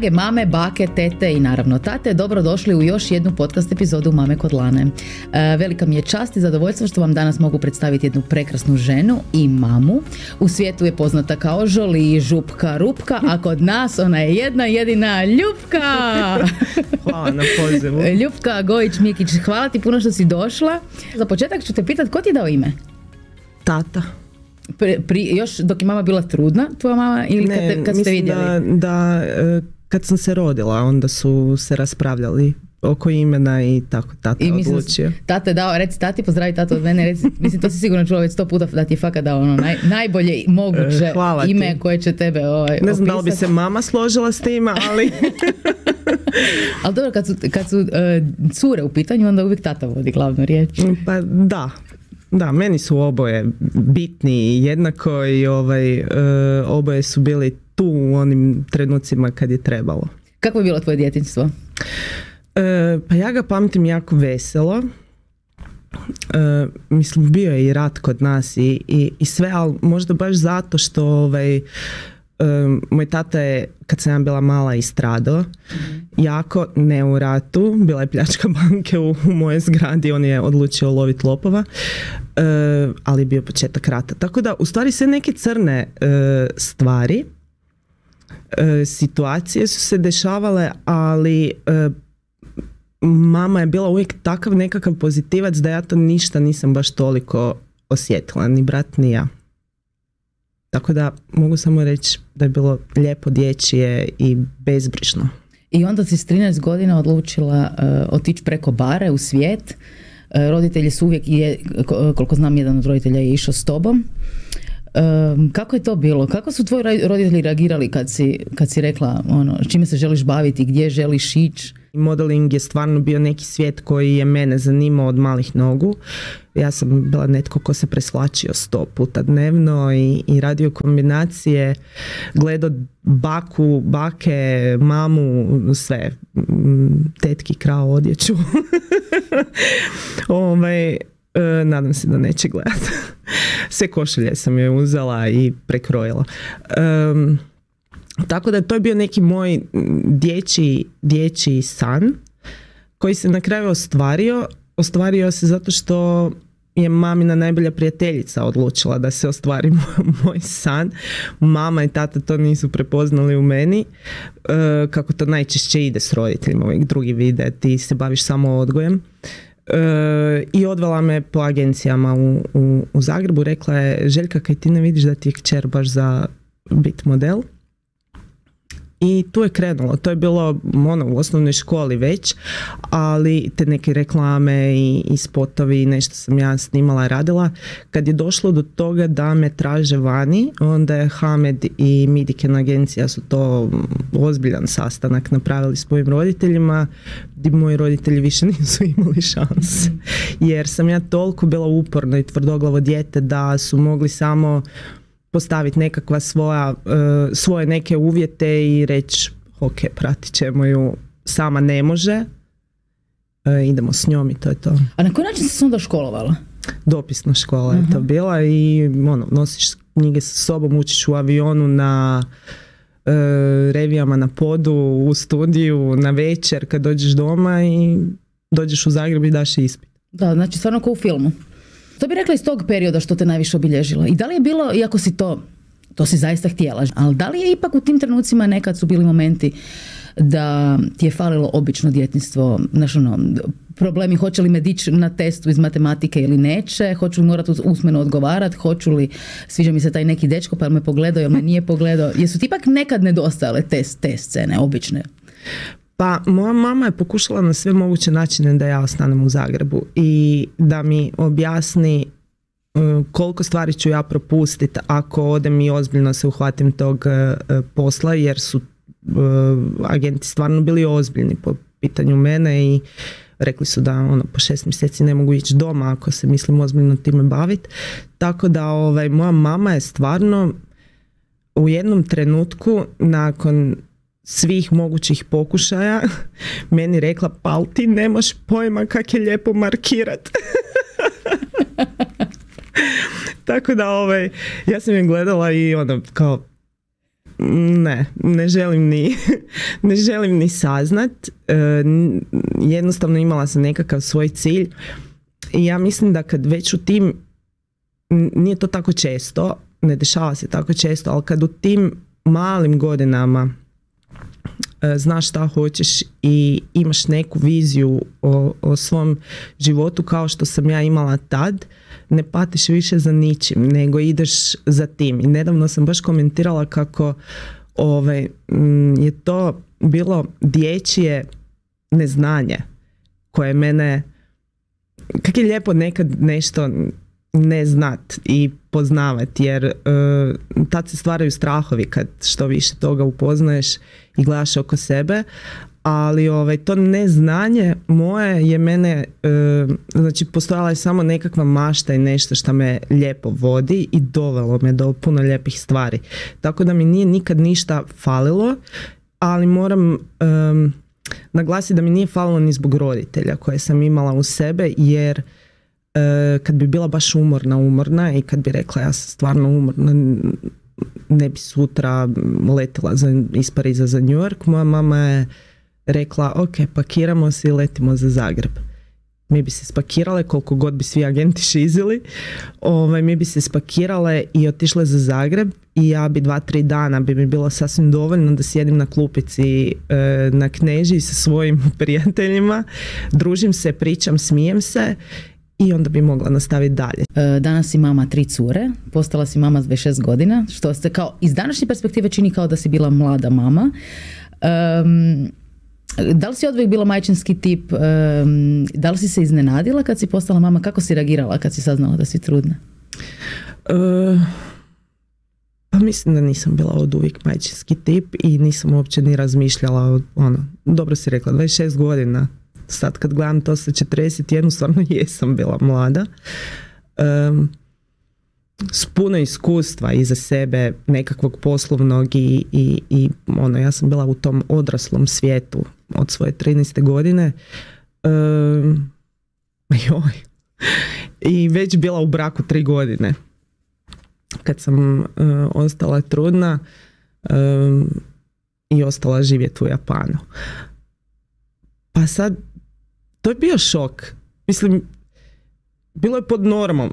Drage mame, bake, tete i naravno tate, dobrodošli u još jednu podcast epizodu Mame kod Lane. Velika mi je čast i zadovoljstvo što vam danas mogu predstaviti jednu prekrasnu ženu i mamu. U svijetu je poznata kao Žoli, Župka, Rupka, a kod nas ona je jedna jedina Ljupka. Hvala na pozivu. Ljupka Gojić-Mikić, hvala ti puno što si došla. Za početak ću te pitati, ko ti je dao ime? Tata. Još dok je mama bila trudna, tvoja mama, ili kad ste vidjeli? Da, kad sam se rodila, onda su se raspravljali oko imena i tako tata odlučio. Tata je dao, reci tati, pozdravi tatu od mene, reci, mislim to si sigurno čula već 100 puta da ti je fakat dao ono najbolje moguće ime koje će tebe ne znam da li bi se mama složila s tima, ali... Ali dobro, kad su cure u pitanju, onda uvijek tata vodi glavnu riječ. Pa da, meni su oboje bitni jednako i oboje su bili tu u onim trenucima kad je trebalo. Kako je bilo tvoje djetinjstvo? Pa ja ga pamtim jako veselo. Mislim, bio je i rat kod nas i sve, ali možda baš zato što moj tata je, kad sam ja bila mala, istradao. Jako, ne u ratu, bila je pljačka banke u mojoj zgradi, on je odlučio loviti lopova, ali je bio početak rata. Tako da, u stvari, sve neke crne stvari, situacije su se dešavale, ali mama je bila uvijek takav nekakav pozitivac da ja to ništa nisam baš toliko osjetila, ni brat ni ja. Tako da mogu samo reći da je bilo lijepo, dječje i bezbrižno. I onda si s 13 godina odlučila otići preko bare u svijet. Roditelji su uvijek, koliko znam, jedan od roditelja je išao s tobom. Kako je to bilo? Kako su tvoji roditelji reagirali kad si rekla čime se želiš baviti, gdje želiš ići? Modeling je stvarno bio neki svijet koji je mene zanimao od malih nogu. Ja sam bila netko ko se presvlačio 100 puta dnevno i radio kombinacije, gledao baku, bake, mamu, sve. Tetki krao odjeću. Nadam se da neće gledati. Sve košulje sam joj uzela i prekrojila. Tako da to je bio neki moj dječji san koji se na kraju ostvario. Ostvario se zato što je mamina najbolja prijateljica odlučila da se ostvari moj san. Mama i tata to nisu prepoznali u meni, kako to najčešće ide s roditeljima. Uvijek drugi vide, ti se baviš samo odgojem. I odvela me po agencijama u Zagrebu. Rekla je: Željka, kaj ti ne vidiš da ti je kćer baš za bit model? I tu je krenulo. To je bilo u osnovnoj školi već, ali te neke reklame i spotovi, nešto sam ja snimala i radila. Kad je došlo do toga da me traže vani, onda je Hamed i Midiken agencija su to ozbiljan sastanak napravili s mojim roditeljima, gdje moji roditelji više nisu imali šanse. Jer sam ja toliko bila uporna i tvrdoglavo dijete da su mogli samo postaviti nekakva svoje neke uvjete i reći: ok, pratit ćemo ju, sama ne može, idemo s njom i to je to. A na koji način si se onda školovala? Dopisna škola je to bila i nosiš knjige sa sobom, učiš u avionu, na revijama na podu, u studiju, na večer kad dođeš doma i dođeš u Zagreb i daš ispit. Da, znači stvarno kao u filmu. To bi rekla iz tog perioda što te najviše obilježilo. I da li je bilo, iako si to si zaista htjela, ali da li je ipak u tim trenucima nekad su bili momenti da ti je falilo obično djetinjstvo, problemi, hoće li me dići na testu iz matematike ili neće, hoću li morati usmeno odgovarati, hoću li, sviđa mi se taj neki dečko pa me pogledao ili me nije pogledao. Jesu ti ipak nekad nedostajale te scene, obične? Pa moja mama je pokušala na sve moguće načine da ja ostanem u Zagrebu i da mi objasni koliko stvari ću ja propustiti ako odem i ozbiljno se uhvatim tog posla, jer su agenti stvarno bili ozbiljni po pitanju mene i rekli su da po 6 mjeseci ne mogu ići doma ako se mislim ozbiljno time baviti. Tako da moja mama je stvarno u jednom trenutku nakon svih mogućih pokušaja meni rekla: pa ali ti nemaš pojma kak je lijepo markirat. Tako da ja sam je gledala i kao ne želim ni saznat. Jednostavno imala sam nekakav svoj cilj i ja mislim da kad već u tim, nije to tako često, ne dešava se tako često, ali kad u tim malim godinama znaš šta hoćeš i imaš neku viziju o svom životu kao što sam ja imala tad, ne patiš više za ničim, nego ideš za tim. I nedavno sam baš komentirala kako je to bilo dječje neznanje koje mene, kak je lijepo nekad nešto ne znat i poznavat, jer tad se stvaraju strahovi kad što više toga upoznaješ i gledaš oko sebe, ali to neznanje moje je mene, znači postojala je samo nekakva mašta i nešto što me lijepo vodi i dovelo me do puno lijepih stvari. Tako da mi nije nikad ništa falilo, ali moram naglasiti da mi nije falilo ni zbog roditelja koje sam imala u sebe, jer kad bi bila baš umorna i kad bi rekla ja sam stvarno umorna, ne bi sutra letila iz Pariza za New York, moja mama je rekla ok, pakiramo se i letimo za Zagreb. Mi bi se spakirale koliko god bi svi agenti šizili, mi bi se spakirale i otišle za Zagreb i ja bi 2-3 dana bi mi bilo sasvim dovoljno da sjedim na klupici na Knežiji sa svojim prijateljima, družim se, pričam, smijem se i onda bi mogla nastaviti dalje. Danas si mama 3 cure, postala si mama s 26 godina, što se kao iz današnje perspektive čini kao da si bila mlada mama. Da li si odvijek bila majčinski tip? Da li si se iznenadila kad si postala mama? Kako si reagirala kad si saznala da si trudna? Pa mislim da nisam bila od uvijek majčinski tip i nisam uopće ni razmišljala dobro si rekla, 26 godina. Sad kad gledam to sa 41, stvarno jesam bila mlada. S puno iskustva iza sebe, nekakvog poslovnog i ja sam bila u tom odraslom svijetu od svoje 13. godine. I već bila u braku 3 godine. Kad sam ostala trudna i ostala živjeti u Japanu. Pa sad, to je bio šok. Mislim, bilo je pod normom,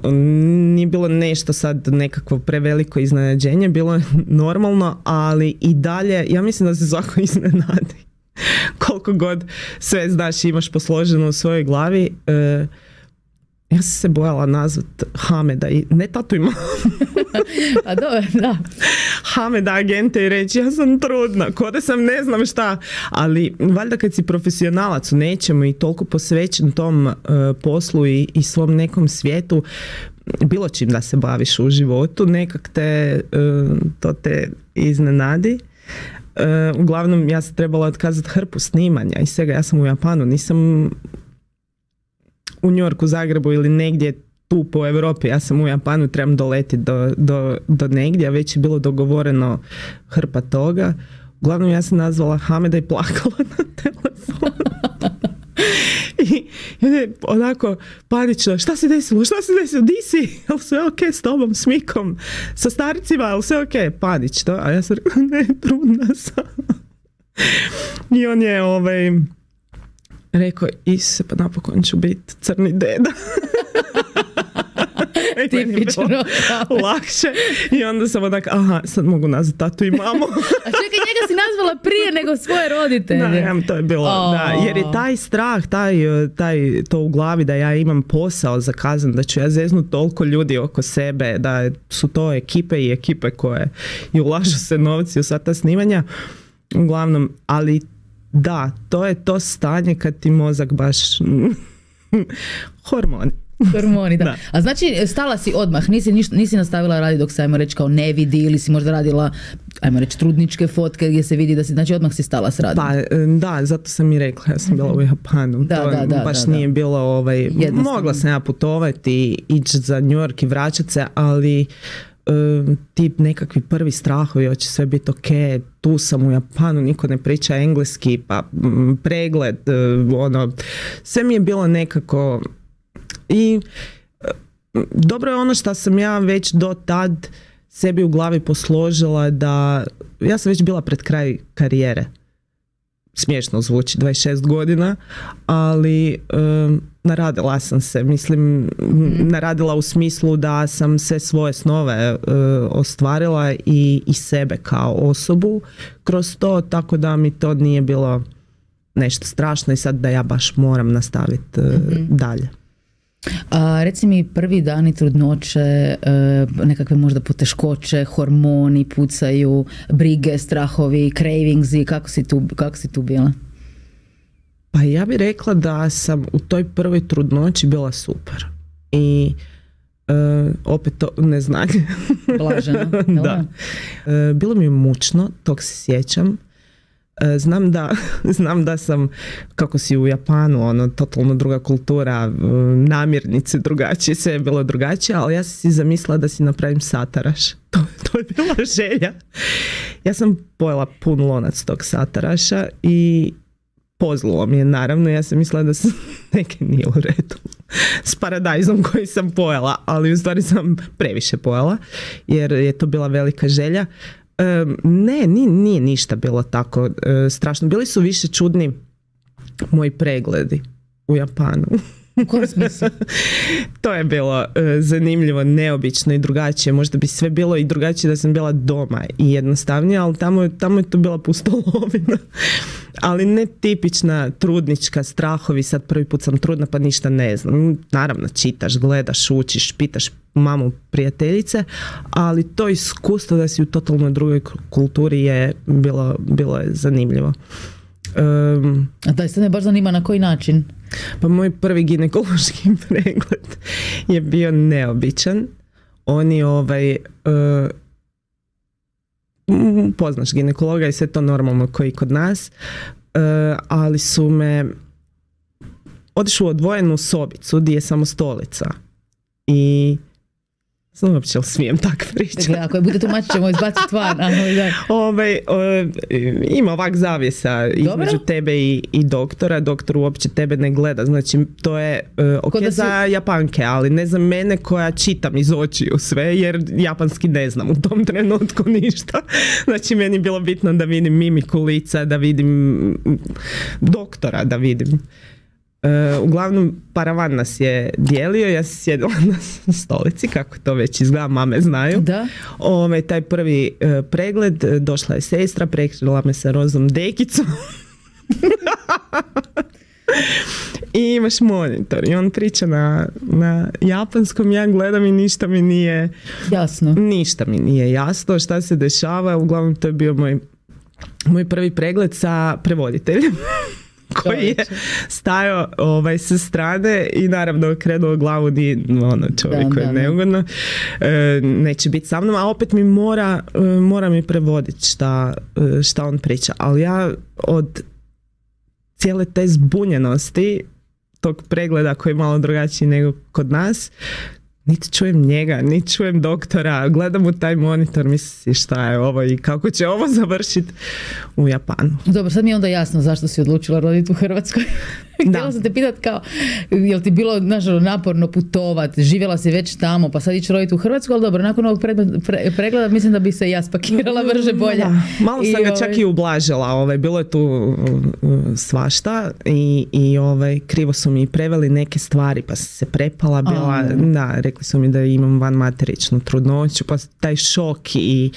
nije bilo nešto sad nekakvo preveliko iznenađenje, bilo je normalno, ali i dalje, ja mislim da se svako iznenadi. Koliko god sve znaš i imaš posloženo u svojoj glavi. Ja sam se bojala nazvat Hameda i ne tatu imam. A dobro, da. Hameda agente i reći ja sam trudna, ko da sam ne znam šta, ali valjda kad si profesionalac u nečemu i toliko posvećen tom poslu i svom nekom svijetu, bilo čim da se baviš u životu, nekak to te iznenadi. Uglavnom ja sam trebala otkazati hrpu snimanja i svega, ja sam u Japanu, nisam u New Yorku, Zagrebu ili negdje tu po Europi, ja sam u Japanu, trebam doletiti do negdje, a već je bilo dogovoreno hrpa toga. Uglavnom ja sam nazvala Hameda i plakala na telefonu. I onako panično, šta se desilo, di si, jel sve ok s tobom, s Mikom, sa starcima, jel sve ok, panično, a ja sam rekla, ne, trudna sam. I on je rekao, Isuse, pa napokon ću biti crni deda. Tipično. Lakše. I onda sam onak, sad mogu nazvati tatu i mamu. A čekaj, njega si nazvala prije nego svoje roditelje. Da, to je bilo, da. Jer je taj strah, to u glavi da ja imam posao zakazan, da ću ja zeznut toliko ljudi oko sebe, da su to ekipe i ekipe koje i ulažu se novci u sva ta snimanja. Uglavnom, ali da, to je to stanje kad ti mozak baš hormoni, da. A znači, stala si odmah, nisi nastavila raditi dok se, ajmo reći, kao ne vidi, ili si možda radila, ajmo reći, trudničke fotke gdje se vidi da si, znači odmah si stala s radom. Pa, da, zato sam i rekla, ja sam bila u Japanu. Nije bilo, mogla sam ja putovati, ići za New York i vraćati se, ali ti nekakvi prvi strahovi, hoće sve biti ok, tu sam u Japanu, niko ne priča engleski, pa pregled, sve mi je bilo nekako. I dobro je ono što sam ja već do tad sebi u glavi posložila da ja sam već bila pred kraj karijere. Smiješno zvuči, 26 godina, ali naradila sam se, mislim, naradila u smislu da sam sve svoje snove ostvarila i sebe kao osobu kroz to, tako da mi to nije bilo nešto strašno i sad da ja baš moram nastaviti dalje. A reci mi, prvi dani trudnoće, nekakve možda poteškoće, hormoni pucaju, brige, strahovi, cravingsi, kako si tu bila? Pa ja bih rekla da sam u toj prvoj trudnoći bila super. I opet to neznanje. Blaženo. Da. Bilo mi je mučno, tog se sjećam. Znam da sam, kako si u Japanu, ono, totalno druga kultura, namirnice drugačije, sve je bilo drugačije, ali ja sam si zamislila da si napravim sataraš. To je bila želja. Ja sam pojela pun lonac tog sataraša i pozlilo mi je, naravno. Ja sam mislila da sam neke nije u redu s paradajzom koji sam pojela, ali u stvari sam previše pojela jer je to bila velika želja. Ne, nije ništa bilo tako strašno. Bili su više čudni moji pregledi u Japanu. U kojem smislu? To je bilo zanimljivo, neobično i drugačije. Možda bi sve bilo i drugačije da sam bila doma i jednostavnije, ali tamo je to bila pustolovina. Ali ne tipična trudnička, strahovi, sad prvi put sam trudna pa ništa ne znam. Naravno, čitaš, gledaš, učiš, pitaš mamu, prijateljice, ali to iskustvo da si u totalno drugoj kulturi je bilo je zanimljivo. A da, sad me baš zanima na koji način? Pa moj prvi ginekološki pregled je bio neobičan. Oni poznaš ginekologa i sve to normalno koji kod nas, ali su me otišli u odvojenu sobicu gdje je samo stolica i znam uopće li smijem tako pričati. Dakle, ako je bude tumačit ćemo izbaciti van. Ima ovak zavjesa između tebe i doktora. Doktor uopće tebe ne gleda. Znači, to je za Japanke, ali ne za mene koja čitam iz očiju sve, jer japanski ne znam u tom trenutku ništa. Znači, meni je bilo bitno da vidim mimiku lica, da vidim doktora, da vidim. Uglavnom, paravan nas je dijelio, ja sam sjedila na stolici, kako to već izgleda, mame znaju. Da. Taj prvi pregled, došla je sestra, prekrila me sa rozom dekicom. I imaš monitor i on priča na japanskom, ja gledam i ništa mi nije jasno. Ništa mi nije jasno šta se dešava, uglavnom to je bio moj prvi pregled sa prevoditeljem. Koji je stajao sa strane i naravno okrenuo glavu di čovjek koji je neugodno. Neće biti sa mnom, a opet mi mora mi prevoditi šta on priča. Ali ja od cijele te zbunjenosti tog pregleda koji je malo drugačiji nego kod nas, niti čujem njega, niti čujem doktora, gledam u taj monitor, mislim šta je ovo i kako će ovo završiti u Japanu. Dobro, sad mi je onda jasno zašto si odlučila roditi u Hrvatskoj. Htjela sam te pitati kao, jel ti bilo naporno putovati, živjela si već tamo, pa sad ići roditi u Hrvatsku, ali dobro, nakon ovog pregleda mislim da bi se ja spakirala brže bolje. Da. Malo sam ga čak i ublažila, bilo je tu svašta i krivo su mi preveli neke stvari, pa sam se prepala bila, rekli su mi da imam vanmateričnu trudnoću, pa taj šok i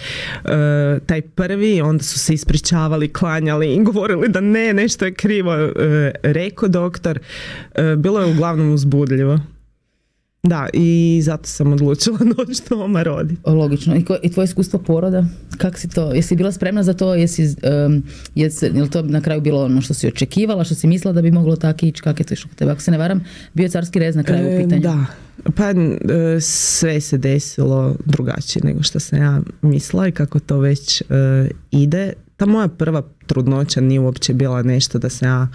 taj prvi, onda su se ispričavali, klanjali i govorili da nešto je krivo rekao doktor. Bilo je uglavnom uzbudljivo. Da, i zato sam odlučila doći doma roditi. Logično. I tvoje iskustvo poroda? Kako si to? Jesi bila spremna za to? Je li to na kraju bilo ono što si očekivala, što si mislila da bi moglo tako ići? Kako je to išlo kod tebe? Ako se ne varam, bio je carski rez na kraju u pitanju. Da. Pa sve se desilo drugačije nego što sam ja mislila i kako to već ide. Ta moja prva trudnoća nije uopće bila nešto da sam ja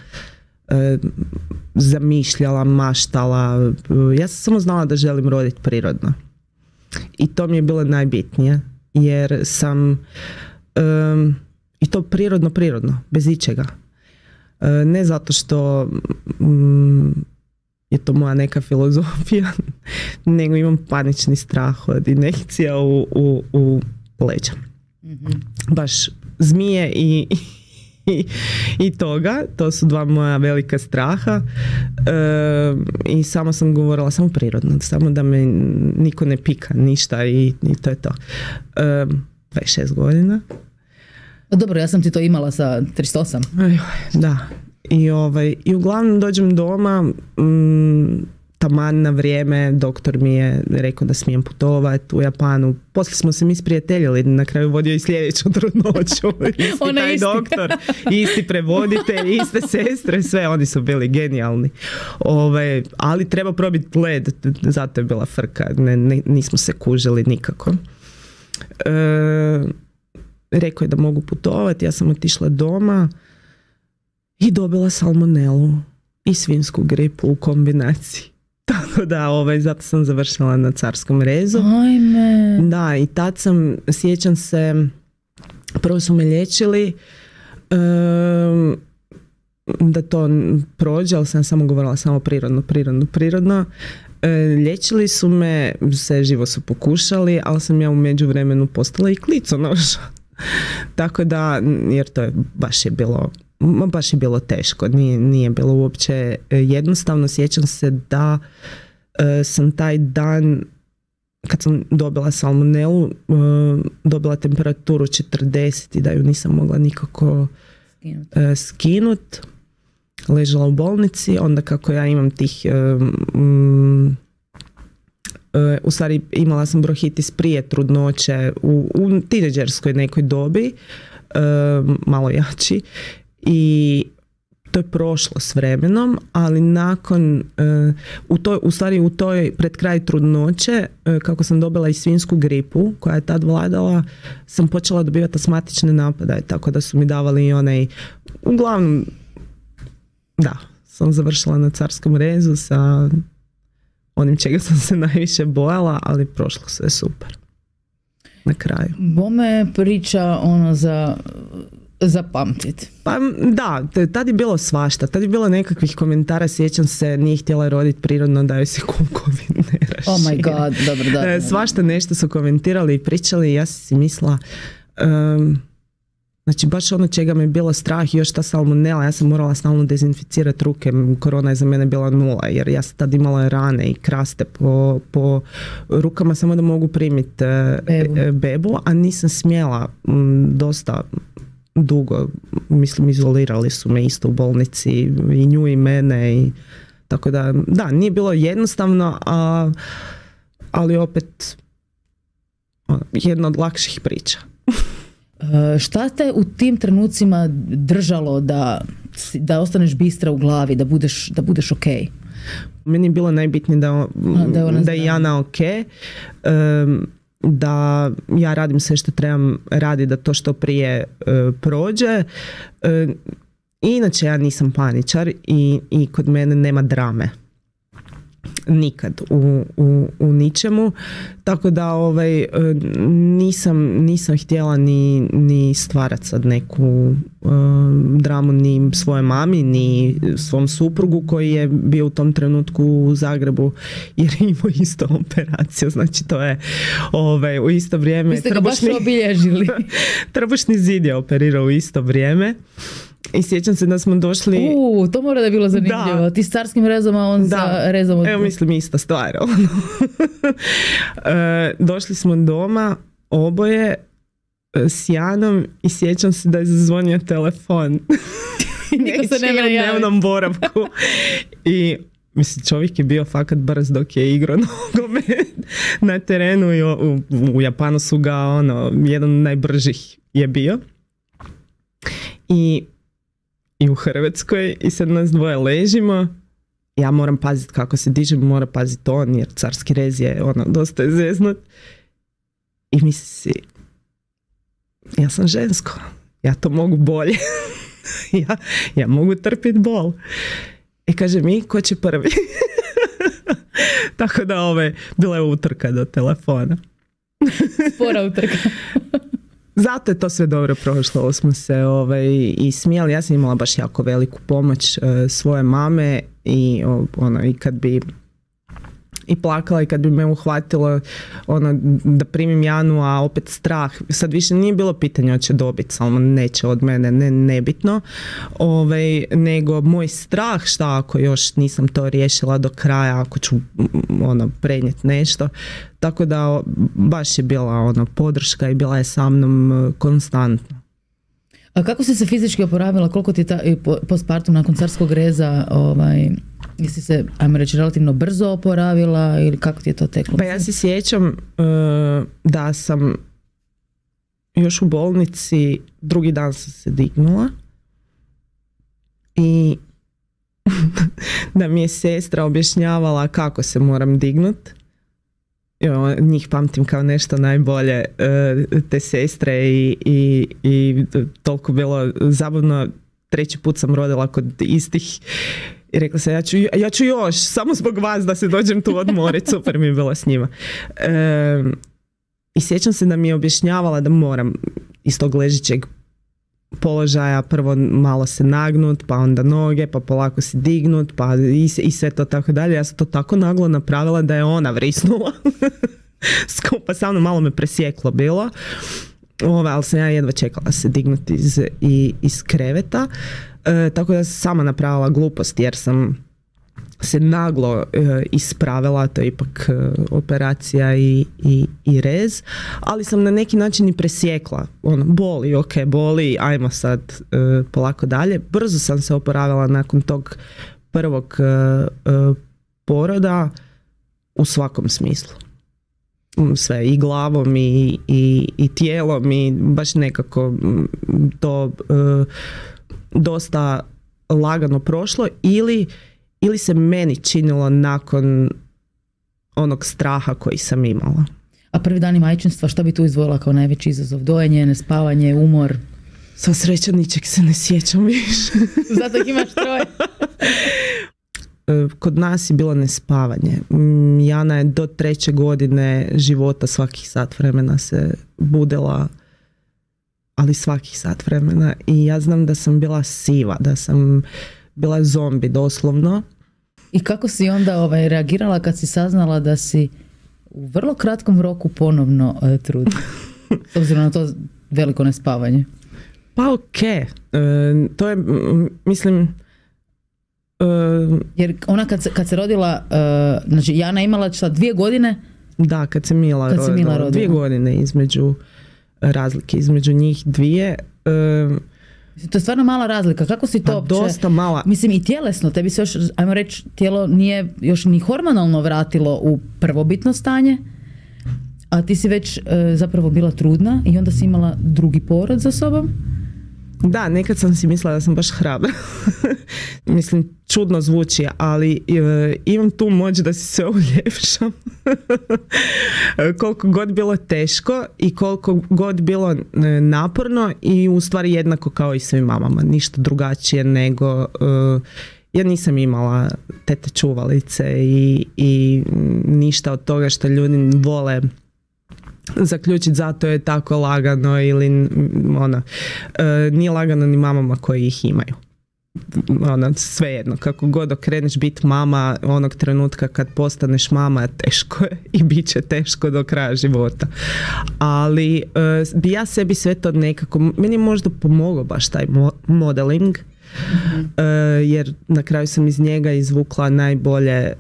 zamišljala, maštala. Ja sam samo znala da želim roditi prirodno. I to mi je bilo najbitnije. Jer sam i to prirodno, bez ičega. Ne zato što je to moja neka filozofija, nego imam panični strah od injekcija u leđa. Baš zmije i toga, to su dva moja velika straha i samo sam govorila, samo prirodno, samo da me niko ne pika, ništa i to je to. 26 godina. Dobro, ja sam ti to imala sa 38. Da. I uglavnom dođem doma, taman na vrijeme, doktor mi je rekao da smijem putovati u Japanu. Poslije smo se mi sprijateljili, na kraju vodio i sljedeću trudnoću. Isti taj doktor, isti prevoditelj, iste sestre, sve, oni su bili genijalni. Ali treba probiti led, zato je bila frka, nismo se kužili nikako. Rekao je da mogu putovati, ja sam otišla doma i dobila salmonelu i svinjsku gripu u kombinaciji. Tako da, zato sam završila na carskom rezu. Ajme. Da, i tad sjećam se, prvo su me liječili da to prođe, ali sam samo govorila samo prirodno. Liječili su me, sve živo su pokušali, ali sam ja u međuvremenu postala i kliconoša. Tako da, jer to je baš je bilo teško, nije bilo uopće jednostavno. Sjećam se da sam taj dan, kad sam dobila salmonelu, dobila temperaturu 40 i da ju nisam mogla nikako skinut. Ležala u bolnici, onda kako ja imam tih u stvari imala sam bronhitis prije trudnoće u tineđerskoj nekoj dobi, malo jači, i to je prošlo s vremenom, ali nakon u toj pred kraj trudnoće, kako sam dobila i svinjsku gripu koja je tad vladala, sam počela dobivati astmatične napadaje, tako da su mi davali i onaj, uglavnom da, sam završila na carskom rezu sa onim čega sam se najviše bojala, ali prošlo sve super na kraju. Bome priča za pamtit. Pa da, tad je bilo svašta, tad je bilo nekakvih komentara, sjećam se, nije htjela roditi prirodno da joj se kukovi ne rašire. Oh my god, dobro, da. Svašta nešto su komentirali i pričali i ja sam si mislila, znači baš ono čega me je bilo strah, još ta salmonela, ja sam morala stalno dezinficirati ruke, korona je za mene bila 0, jer ja sam tad imala rane i kraste po rukama samo da mogu primiti bebu, a nisam smjela dosta dugo, mislim izolirali su me isto u bolnici i nju i mene i tako da nije bilo jednostavno, ali opet jedna od lakših priča. Šta te u tim trenucima držalo da ostaneš bistra u glavi, da budeš ok? Meni je bilo najbitnije da je Jana ok, da ja radim sve što trebam raditi da to što prije prođe. Inače ja nisam paničar i kod mene nema drame. Nikad u ničemu, tako da nisam htjela ni stvarati sad neku dramu ni svojoj mami, ni svom suprugu koji je bio u tom trenutku u Zagrebu jer je imao isto operaciju, znači to je u isto vrijeme. Vi ste ga baš obilježili. Trbušni zid je operirao u isto vrijeme. I sjećam se da smo došli... to mora da je bilo zanimljivo. Da. Ti s carskim rezom, a on sa rezom od... Evo mislim ista stvar. Došli smo doma, oboje, s Janom i sjećam se da je zazvonio telefon. Niko se ne u dnevnom boravku. I mislim, čovjek je bio fakat brz dok je igrao nogomet na terenu i u Japanu su ga jedan od najbržih je bio. I u Hrvatskoj i sad nas dvoje ležimo, ja moram paziti kako se dižem, mora paziti on jer carski rez je dosta je zeznut i misli si ja sam žensko, ja to mogu bolje. ja mogu trpiti bol. I kaže mi, ko će prvi? Tako da bila je utrka do telefona. Spora utrka. Zato je to sve dobro prošlo, smo se i smijali. Ja sam imala baš jako veliku pomoć svoje mame i kad bi i plakala i kad bi me uhvatilo ono, da primim Janu, a opet strah. Sad više nije bilo pitanje hoće dobiti, samo neće od mene, nebitno. Nego moj strah šta ako još nisam to riješila do kraja, ako ću ono, prenijeti nešto. Tako da baš je bila ono, podrška i bila je sa mnom konstantno. A kako si se fizički oporavila? Koliko ti je postpartum nakon carskog reza, jesi se, ajmo reći, relativno brzo oporavila ili kako ti je to teklo? Pa ja se sjećam da sam još u bolnici, drugi dan sam se dignula i da mi je sestra objašnjavala kako se moram dignut. Njih pamtim kao nešto najbolje, te sestre i toliko bilo zabavno. 3. put sam rodila kod istih i rekla sam ja ću još, samo zbog vas da se dođem tu odmoriti, super mi je bilo s njima. I sjećam se da mi je objašnjavala da moram iz tog ležićeg položaja prvo malo se nagnut, pa onda noge, pa polako se dignut, pa i sve to tako dalje. Ja sam to tako naglo napravila da je ona vrisnula. Skupa sa mnom, malo me presjeklo bilo. Ali sam ja jedva čekala se dignuti iz kreveta. Tako da sam sama napravila glupost jer sam se naglo ispravila, to je ipak operacija i rez, ali sam na neki način i presjekla. Ono, boli, ok, boli, ajmo sad polako dalje. Brzo sam se oporavila nakon tog prvog poroda u svakom smislu. Sve, i glavom i tijelom i baš nekako to dosta lagano prošlo ili se meni činilo nakon onog straha koji sam imala. A prvi dani majčinstva, što bi tu izdvojila kao najveći izazov? Dojenje, nespavanje, umor? Sva sreća, ničeg se ne sjećam više. Zato ih imaš 3. Kod nas je bilo nespavanje. Jana je do 3. godine života svakih sat vremena se budila, ali svakih sat vremena. I ja znam da sam bila siva, da sam bila zombi doslovno. I kako si onda reagirala kad si saznala da si u vrlo kratkom roku ponovno trudna? S obzirom na to veliko nespavanje. Pa to je, mislim... Jer ona kad se rodila, znači Jana imala 2 godine? Da, kad se Mila rodila. 2 godine između razlike, između njih 2. To je stvarno mala razlika. Kako si to uopće? Dosta mala. Mislim i tjelesno, tebi se još, ajmo reći, tijelo nije još ni hormonalno vratilo u prvobitno stanje, a ti si već zapravo bila trudna i onda si imala drugi porod za sobom. Da, nekad sam si mislila da sam baš hrabra. Mislim, čudno zvuči, ali imam tu moć da si sve uljepšam. Koliko god bilo teško i koliko god bilo naporno i u stvari jednako kao i svim mamama. Ništa drugačije nego... ja nisam imala tete čuvalice i ništa od toga što ljudi vole zaključiti zato je tako lagano ili nije lagano ni mamama koji ih imaju. Svejedno, kako god okreneš biti mama, onog trenutka kad postaneš mama teško je i bit će teško do kraja života. Ali bi ja sebi sve to nekako, meni je možda pomogao baš taj modeling, jer na kraju sam iz njega izvukla najbolje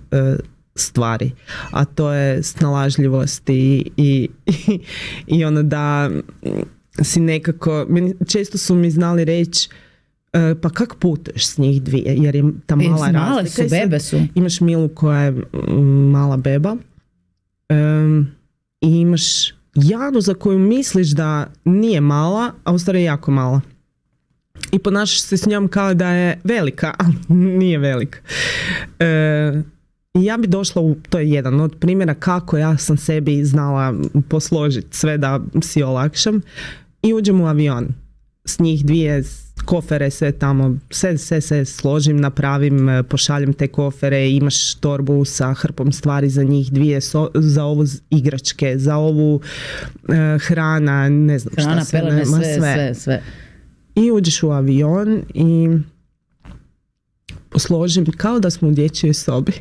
stvari, a to je snalažljivost i ono da si nekako, često su mi znali reći pa kak putuješ s njih 2, jer je ta mala razlika. Su, bebe su. Imaš Milu koja je mala beba i imaš Janu za koju misliš da nije mala, a u stvari je jako mala. I ponašaš se s njom kao da je velika, ali nije velika. I ja bi došla to je jedan od primjera kako ja sam sebi znala posložiti sve da si olakšam i uđem u avion s njih 2, kofere, sve tamo, sve složim, napravim, pošaljem te kofere, imaš torbu sa hrpom stvari za njih 2, za ovu igračke, za ovu hrana, ne znam hrana, šta pelene, sve. I uđeš u avion i posložim kao da smo u dječjoj sobi.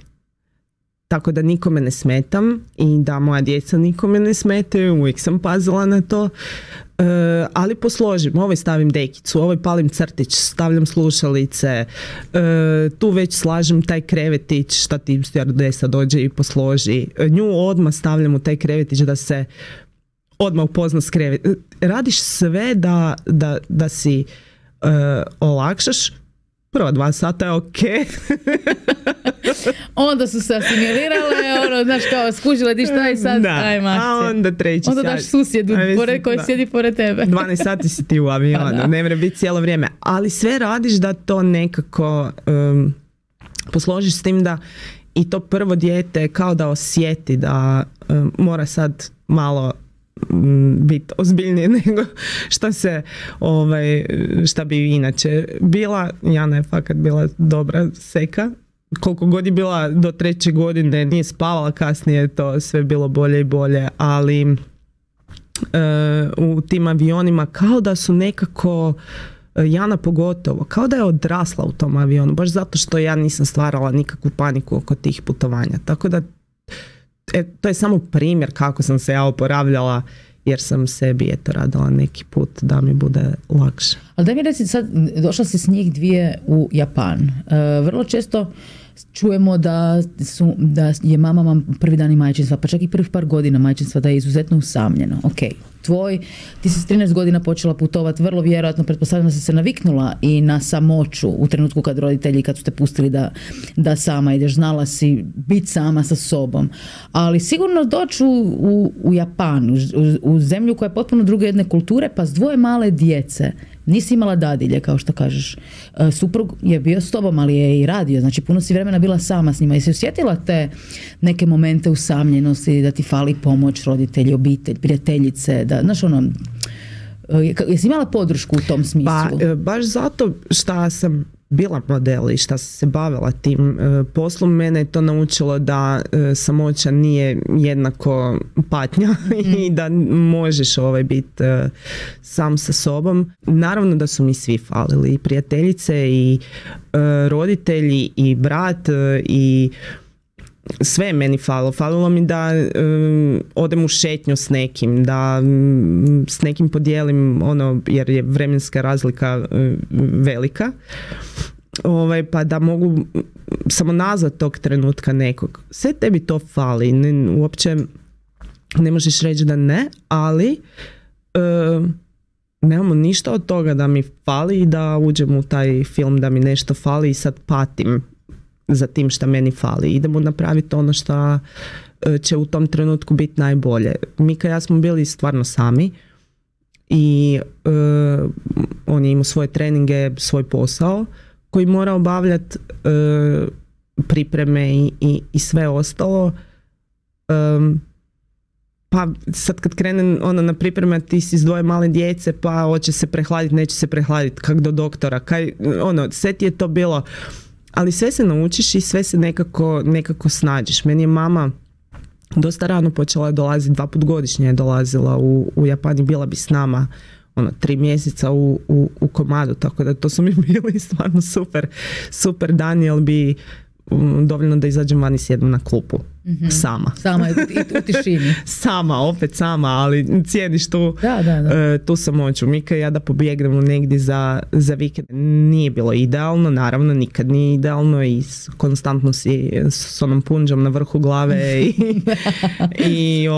tako da nikome ne smetam i da moja djeca nikome ne smetaju, uvijek sam pazila na to. Ali posložim, ovoj stavim dekicu, ovoj palim crtić, stavljam slušalice, tu već slažem taj krevetić, šta ti stewardesa dođe i posloži. Nju odmah stavljam u taj krevetić da se odmah upozna s krevet. Radiš sve da si olakšaš. Prva 2 sata je ok. Onda su se asimilirale, znaš kao, skužile ti šta i sad, ajmo akcija. A onda treći sat. Onda daš susjedu koji sjedi pored tebe. 12 sati si ti u avionu, ne mora biti cijelo vrijeme. Ali sve radiš da to nekako posložiš s tim da i to prvo dijete kao da osjeti da mora sad malo biti ozbiljnije nego šta bi inače bila. Jana je fakat bila dobra seka. Koliko god je bila do 3. godine, nije spavala, kasnije to sve bilo bolje i bolje, ali u tim avionima kao da su nekako, Jana pogotovo, kao da je odrasla u tom avionu, baš zato što ja nisam stvarala nikakvu paniku oko tih putovanja. Tako da to je samo primjer kako sam se ja oporavljala, jer sam sebi radila neki put da mi bude lakše. Ali da mi reci sad, došla si s njih 2 u Japan. Vrlo često čujemo da je mama prvi dan majčinstva, pa čak i prvih par godina majčinstva da je izuzetno usamljeno. Ok, ti si s 13 godina počela putovati, vrlo vjerojatno, pretpostavljam da si se naviknula i na samoću u trenutku kad roditelji, kad su te pustili da sama ideš, znala si biti sama sa sobom. Ali sigurno doći u Japan, u zemlju koja je potpuno druge jedne kulture, pa s 2 male djece, nisi imala dadilje, kao što kažeš. Suprug je bio s tobom, ali je i radio, znači puno si vremena bila sama s njima. Jesi osjetila te neke momente usamljenosti, da ti fali pomoć, roditelji, obitelj, prijateljice, da, znaš jesi imala podršku u tom smislu? Pa, baš zato što sam bila model i šta sam se bavila tim poslom, mene je to naučilo da samoća nije jednako patnja i da možeš biti sam sa sobom. Naravno da su mi svi falili, i prijateljice i roditelji i brat i sve je meni falilo. Falilo mi da odem u šetnju s nekim, da s nekim podijelim jer je vremenska razlika velika. Pa da mogu samo nazvat tog trenutka nekog. Sve tebi to fali. Uopće ne možeš reći da ne, ali nemamo ništa od toga da mi fali i da uđem u taj film da mi nešto fali i sad patim za tim šta meni fali. Idemo napraviti ono što će u tom trenutku biti najbolje. Mika i ja smo bili stvarno sami i on je imao svoje treninge, svoj posao koji mora obavljati, pripreme i sve ostalo. Pa sad kad krene na pripreme, ti si s 2 male djece, pa hoće se prehladiti, neće se prehladiti, kak do doktora, sve ti je to bilo. Ali sve se naučiš i sve se nekako snađeš. Meni je mama dosta rano počela dolaziti, 2 puta godišnje je dolazila u Japan i bila bi s nama 3 mjeseca u komadu, tako da to su mi bili stvarno super dani, jer bi dovoljno da izađem van i sjedem na klupu. Sama. Sama u tišini. Opet sama, ali cijeniš tu samoću. Mika i ja da pobjegnemo negdje za vikend. Nije bilo idealno, naravno, nikad nije idealno i konstantno si s onom punđom na vrhu glave i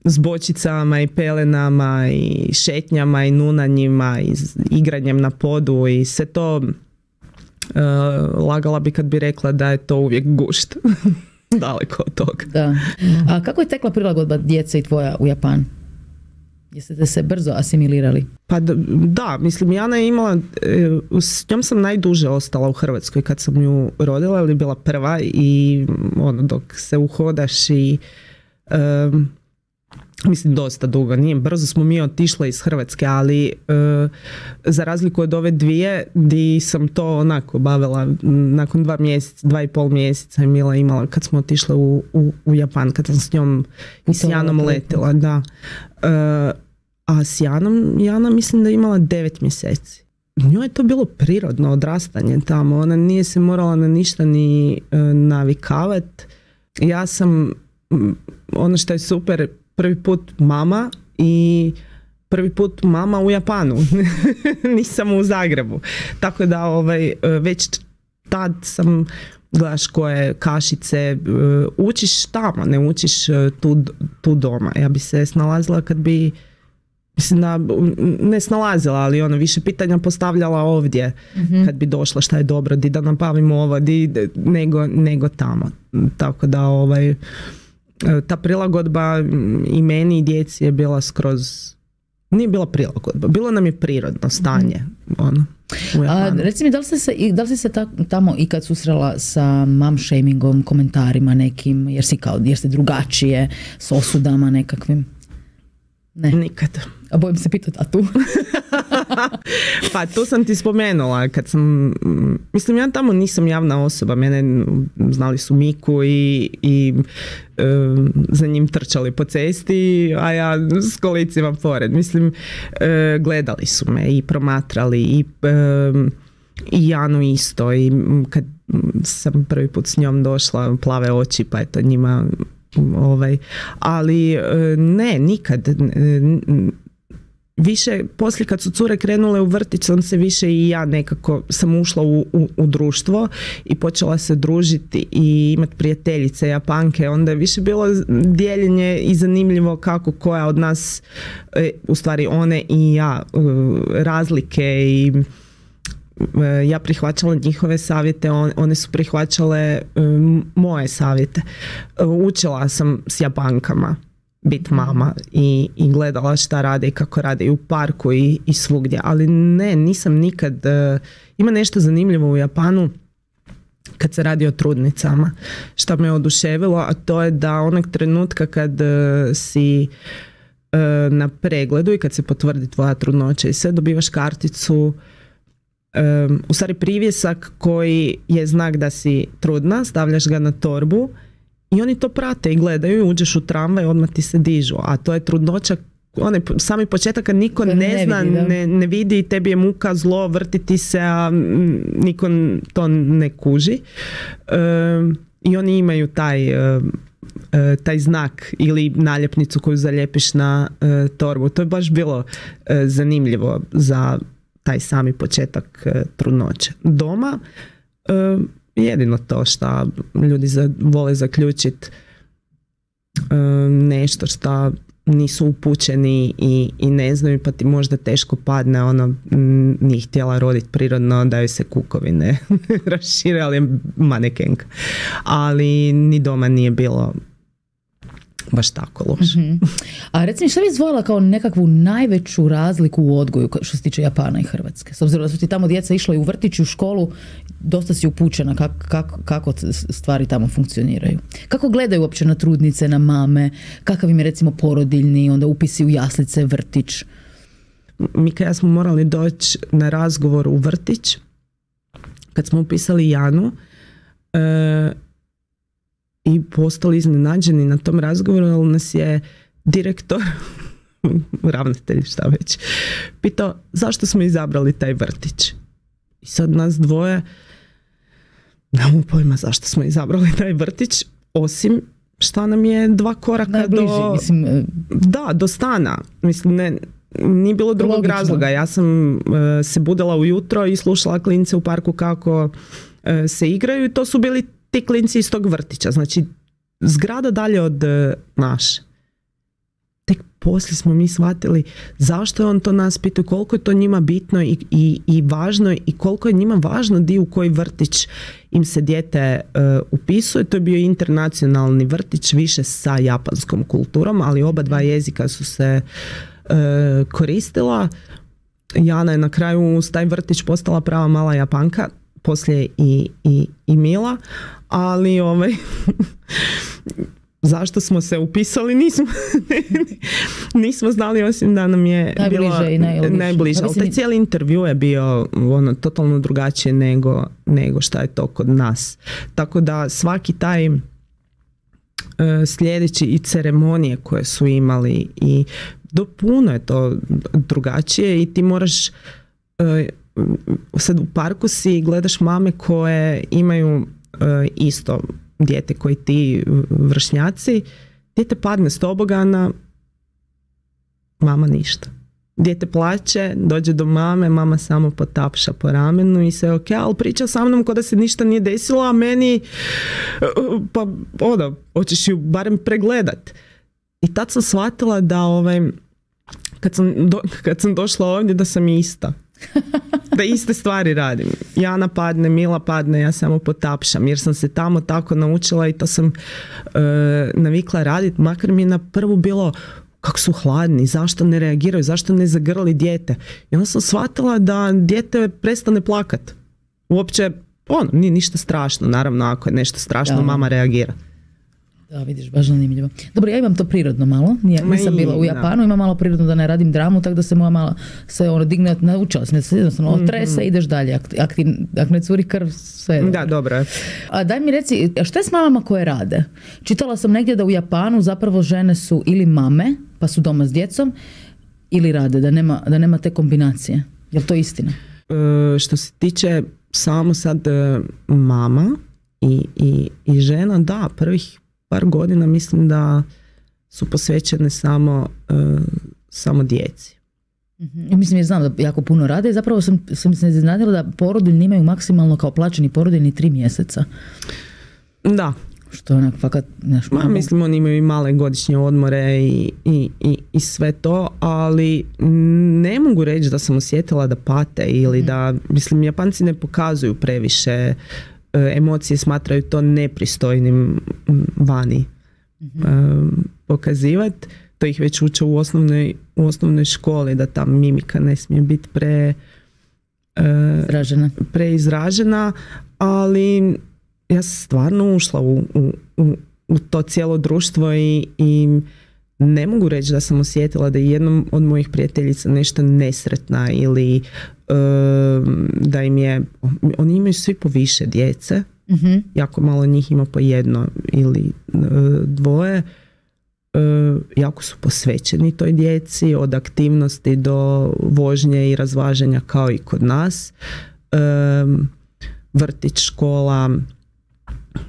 s bočicama i pelenama i šetnjama i nunanjima i igranjem na podu i sve to. Lagala bi kad bi rekla da je to uvijek gušt. Daleko od toga. Da. A kako je tekla prilagodba djece i tvoja u Japan? Jeste se brzo asimilirali? Pa da, mislim, Jana je imala, s njom sam najduže ostala u Hrvatskoj kad sam ju rodila, jer je bila prva i dok se uhodaš i mislim dosta dugo, nije brzo smo mi otišli iz Hrvatske, ali za razliku od ove 2 di sam to onako bavila nakon 2,5 mjeseca je Mila imala kad smo otišli u Japan, kad sam s njom i s Janom letila, da. A s Jana mislim da je imala 9 mjeseci. Njoj je to bilo prirodno odrastanje tamo, ona nije se morala na ništa ni navikavati. ja sam, ono što je super, prvi put mama i prvi put mama u Japanu. Nisam u Zagrebu. Tako da već tad sam, gledaš koje kašice, učiš tamo, ne učiš tu doma. Ja bi se snalazila kad bi, mislim da, ne snalazila, ali više pitanja postavljala ovdje kad bi došla šta je dobro, di da napravimo ovo, nego tamo. Tako da ta prilagodba i meni i djeci je bila skroz, nije bila prilagodba, bilo nam je prirodno stanje. Reci mi, da li si se tamo ikad susrela sa mom shamingom, komentarima nekim, jer si drugačije, s osudama nekakvim? Ne. Nikad. A bojim se pitati, a tu? Pa tu sam ti spomenula, kad sam, mislim, ja tamo nisam javna osoba, mene znali su Miku i za njim trčali po cesti, a ja s kolicima pored. Mislim, gledali su me i promatrali i Janu isto, i kad sam prvi put s njom došla, plave oči, pa je to njima ali ne, nikad. Više, poslije kad su cure krenule u vrtić, sam se više i ja nekako sam ušla u društvo i počela se družiti i imati prijateljice Japanke, onda je više bilo dijeljenje i zanimljivo kako koja od nas, u stvari one i ja, razlike, i ja prihvaćala njihove savjete, one su prihvaćale moje savjete. Učila sam s Japankama bit mama i gledala šta rade i kako rade i u parku i svugdje, ali ne, nisam nikad, ima nešto zanimljivo u Japanu kad se radi o trudnicama, što me oduševilo, a to je da onog trenutka kad si na pregledu i kad se potvrdi tvoja trudnoća i sve, dobivaš karticu, u stvari privjesak koji je znak da si trudna, stavljaš ga na torbu i oni to prate i gledaju, uđeš u tramvaj, odmah ti se dižu, a to je trudnoća, sami početak kad niko ne zna, ne vidi, tebi je muka, zlo, vrtiti se, a niko to ne kuži. I oni imaju taj znak ili naljepnicu koju zaljepiš na torbu. To je baš bilo zanimljivo za taj sami početak trudnoće. Doma jedino to što ljudi vole zaključiti nešto što nisu upućeni i ne znaju, pa ti možda teško padne, nije htjela roditi prirodno, da joj se kukovine rašire, ali je manekenka. Ali ni doma nije bilo baš tako loše. A recimo, šta bi izdvojila kao nekakvu najveću razliku u odgoju što se tiče Japana i Hrvatske? S obzirom da su ti tamo djeca išla i u vrtić i u školu, dosta si upućena kako stvari tamo funkcioniraju. Kako gledaju uopće na trudnice, na mame, kakav im je recimo porodiljni, onda upisi u jaslice, vrtić? Mika i ja smo morali doći na razgovor u vrtić kad smo upisali Janu, i postali iznenađeni na tom razgovoru, ali nas je direktor, ravnatelj, šta već, pitao zašto smo izabrali taj vrtić. I sad nas dvoje nemamo pojma zašto smo izabrali taj vrtić, osim šta nam je 2 koraka najbliži, do stana. Mislim, nije bilo drugog logično razloga. Ja sam se budila ujutro i slušala klince u parku kako se igraju, i to su bili ti klinci iz tog vrtića, znači zgrada dalje od naše. Tek poslije smo mi shvatili zašto je on to nas pitao, koliko je to njima bitno i važno, i koliko je njima važno di u koji vrtić im se dijete upisuje. To je bio internacionalni vrtić, više sa japanskom kulturom, ali oba dva jezika su se koristila. Jana je na kraju uz taj vrtić postala prava mala Japanka, poslije i Mila, ali zašto smo se upisali nismo znali, osim da nam je najbliže. Ali taj cijeli intervju je bio totalno drugačije nego šta je to kod nas. Tako da svaki taj sljedeći i ceremonije koje su imali i puno je to drugačije, i ti moraš sad u parku si gledaš mame koje imaju isto dijete koji ti vršnjaci, dijete padne s tobogana, mama ništa. Dijete plače, dođe do mame, mama samo potapša po ramenu i sve ok, ali priča sa mnom kao da se ništa nije desilo, a meni pa hoćeš ju barem pregledat. I tad sam shvatila da kad sam došla ovdje da sam ista. Da iste stvari radim. Jana padne, Mila padne, ja samo potapšam jer sam se tamo tako naučila i to sam navikla raditi, makar mi je na prvu bilo kako su hladni, zašto ne reagiraju, zašto ne zagrli dijete. I onda sam shvatila da dijete prestane plakat. Uopće, nije ništa strašno, naravno ako je nešto strašno, mama reagira. Da, vidiš, baš zanimljivo. Dobro, ja imam to prirodno malo. Nisam bila u Japanu, imam malo prirodno da ne radim dramu, tako da se moja mala se digne, naučila sam se, jednostavno trese, ideš dalje. Ako ne curi krv, sve. Da, dobro je. A daj mi reci, šta je s mamama koje rade? Čitala sam negdje da u Japanu zapravo žene su ili mame, pa su doma s djecom, ili rade, da nema te kombinacije. Je li to istina? Što se tiče samo sad mama i žena, da, prvih par godina mislim da su posvećene samo djeci. Mislim, ja znam da jako puno rade i zapravo sam se iznenadila da porodiljni imaju maksimalno kao plaćeni porodiljni 3 mjeseca. Da. Što je onak fakat nešto. Mislim, oni imaju i male godišnje odmore i sve to, ali ne mogu reći da sam osjetila da pate ili da, mislim, Japanci ne pokazuju previše emocije, smatraju to nepristojnim vani pokazivati. To ih već uče u osnovnoj školi, da ta mimika ne smije biti preizražena, ali ja sam stvarno ušla u to cijelo društvo i ne mogu reći da sam osjetila da je jednom od mojih prijateljica nešto nesretna ili da im je, oni imaju svi po više djece, jako malo njih ima po jedno ili dvoje, jako su posvećeni toj djeci, od aktivnosti do vožnje i razvaženja kao i kod nas, vrtić, škola.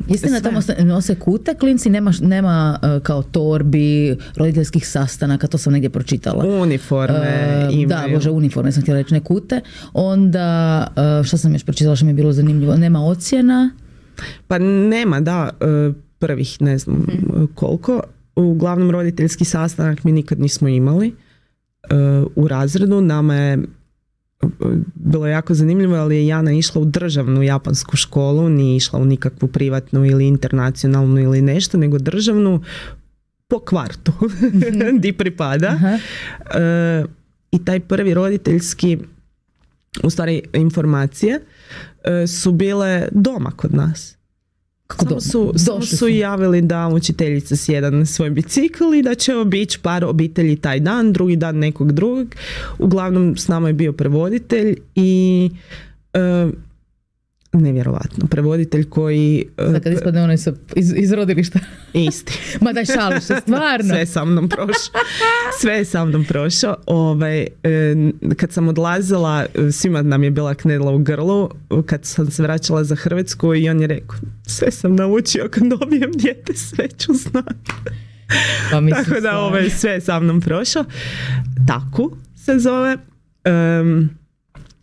Istina, tamo nose kute klinci, nema kao torbi, roditeljskih sastanaka, to sam negdje pročitala. Uniforme imaju. Da, bože, uniforme sam htjela reći, ne kute. Onda, što sam još pročitala što mi je bilo zanimljivo, nema ocjena? Pa nema, da, prvih ne znam koliko. Uglavnom roditeljski sastanak mi nikad nismo imali u razredu. Nama je bilo jako zanimljivo, ali je Jana išla u državnu japansku školu, nije išla u nikakvu privatnu ili internacionalnu ili nešto, nego državnu po kvartu di pripada. I taj prvi roditeljski, u stvari informacije, su bile doma kod nas. Samo su javili da učiteljica sjeda na svoj bicikl i da će obići par obitelji taj dan, drugi dan nekog drugog. Uglavnom s nama je bio prevoditelj i nevjerovatno, prevoditelj koji... Sad kad ispadne onaj iz rodilišta. Isti. Ma daj, šališ se, stvarno. Sve je sa mnom prošao. Kad sam odlazila, svima nam je bila knedla u grlu, kad sam se vraćala za Hrvatsku i on je rekao, sve sam naučio, kad dobijem dijete, sve ću znati. Pa tako da sve je sa mnom prošao. Taku se zove.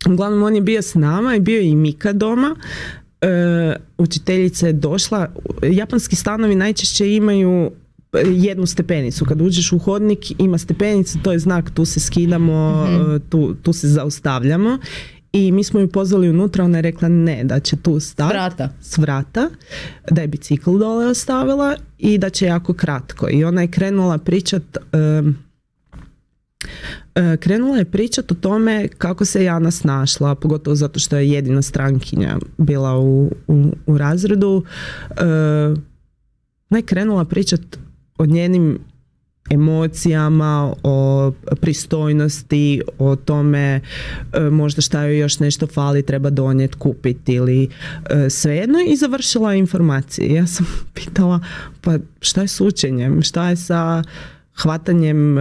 Uglavnom on je bio s nama i bio i Mika doma. Učiteljica je došla. Japanski stanovi najčešće imaju jednu stepenicu. Kad uđeš u hodnik ima stepenica, to je znak, tu se skidamo, tu se zaustavljamo. I mi smo ju pozvali unutra, ona je rekla ne, da će tu stati s vrata, da je bicikl dole ostavila i da će jako kratko. I ona je krenula pričat o tome kako se Jana snašla, pogotovo zato što je jedina strankinja bila u razredu. Ona je krenula pričat o njenim emocijama, o pristojnosti, o tome možda šta joj još nešto fali, treba donijeti, kupiti ili svejedno, i završila informacije. Ja sam pitala, pa šta je s učenjem, šta je sa hvatanjem,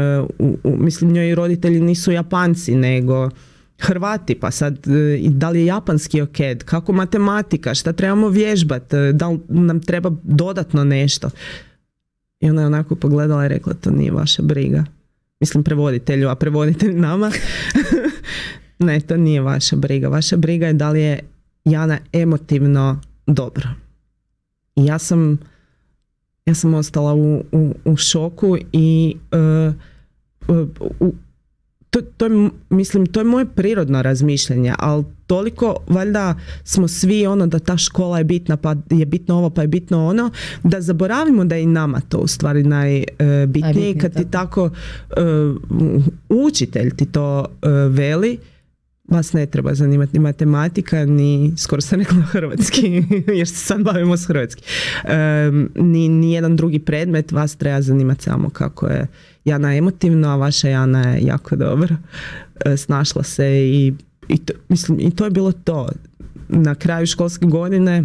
mislim, njoj roditelji nisu Japanci, nego Hrvati, pa sad da li je japanski ok, kako matematika, šta trebamo vježbati, da li nam treba dodatno nešto. I ona je onako pogledala i rekla, to nije vaša briga. Mislim prevoditelju, a prevoditelj nama. Ne, to nije vaša briga. Vaša briga je da li je Jana emotivno dobro. I ja sam ostala u šoku i to je moje prirodno razmišljanje, ali toliko valjda smo svi da ta škola je bitna, pa je bitno ovo, pa je bitno ono, da zaboravimo da je i nama to u stvari najbitnije. Kad ti tako učitelj ti to veli, vas ne treba zanimati ni matematika, ni, skoro sam rekla hrvatski, jer se sad bavimo s hrvatski, ni jedan drugi predmet, vas treba zanimati samo kako je Jana emotivno, a vaša Jana je jako dobro snašla se i to je bilo to. Na kraju školske godine,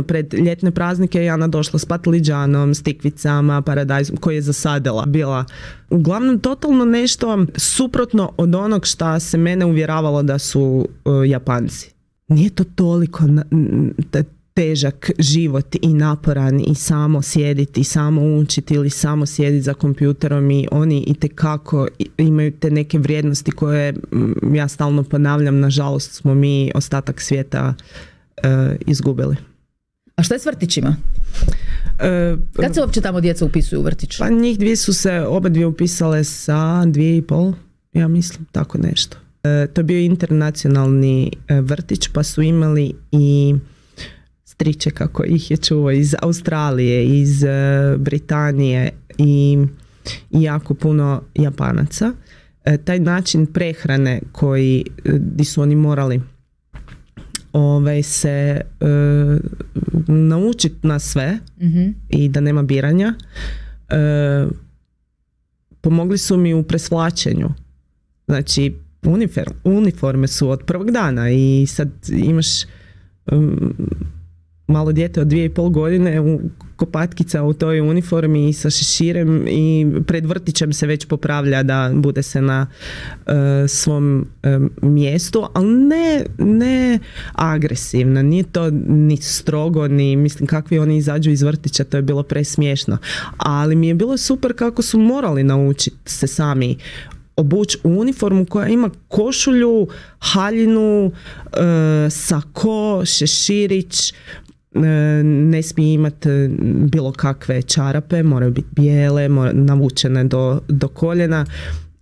pred ljetne praznike Jana došla s patliđanom, s tikvicama, paradajzom koji je zasadila. Bila uglavnom totalno nešto suprotno od onog šta se mene uvjeravalo da su Japanci. Nije to toliko težak život i naporan i samo sjediti i samo učiti ili samo sjediti za kompjuterom, i oni itekako imaju te neke vrijednosti koje ja stalno ponavljam, nažalost smo mi ostatak svijeta izgubili. A šta je s vrtićima? Kad se uopće tamo djeca upisuju u vrtić? Pa njih dvije su se obadvije upisale sa 2,5, ja mislim, tako nešto. To je bio internacionalni vrtić, pa su imali i striče, kako ih je čuo, iz Australije, iz Britanije i jako puno Japanaca. Taj način prehrane di su oni morali se naučiti na sve i da nema biranja, pomogli su mi u presvlačenju. Znači uniforme su od prvog dana i sad imaš malo dijete od 2,5 godine kopatkica u toj uniformi i sa šeširem i pred vrtićem se već popravlja da bude se na svom mjestu, ali ne agresivno, nije to ni strogo, ni mislim kakvi oni izađu iz vrtića, to je bilo presmiješno, ali mi je bilo super kako su morali naučiti se sami obući u uniformu koja ima košulju, haljinu, sako, šeširić, ne smije imati bilo kakve čarape, moraju biti bijele, navučene do koljena.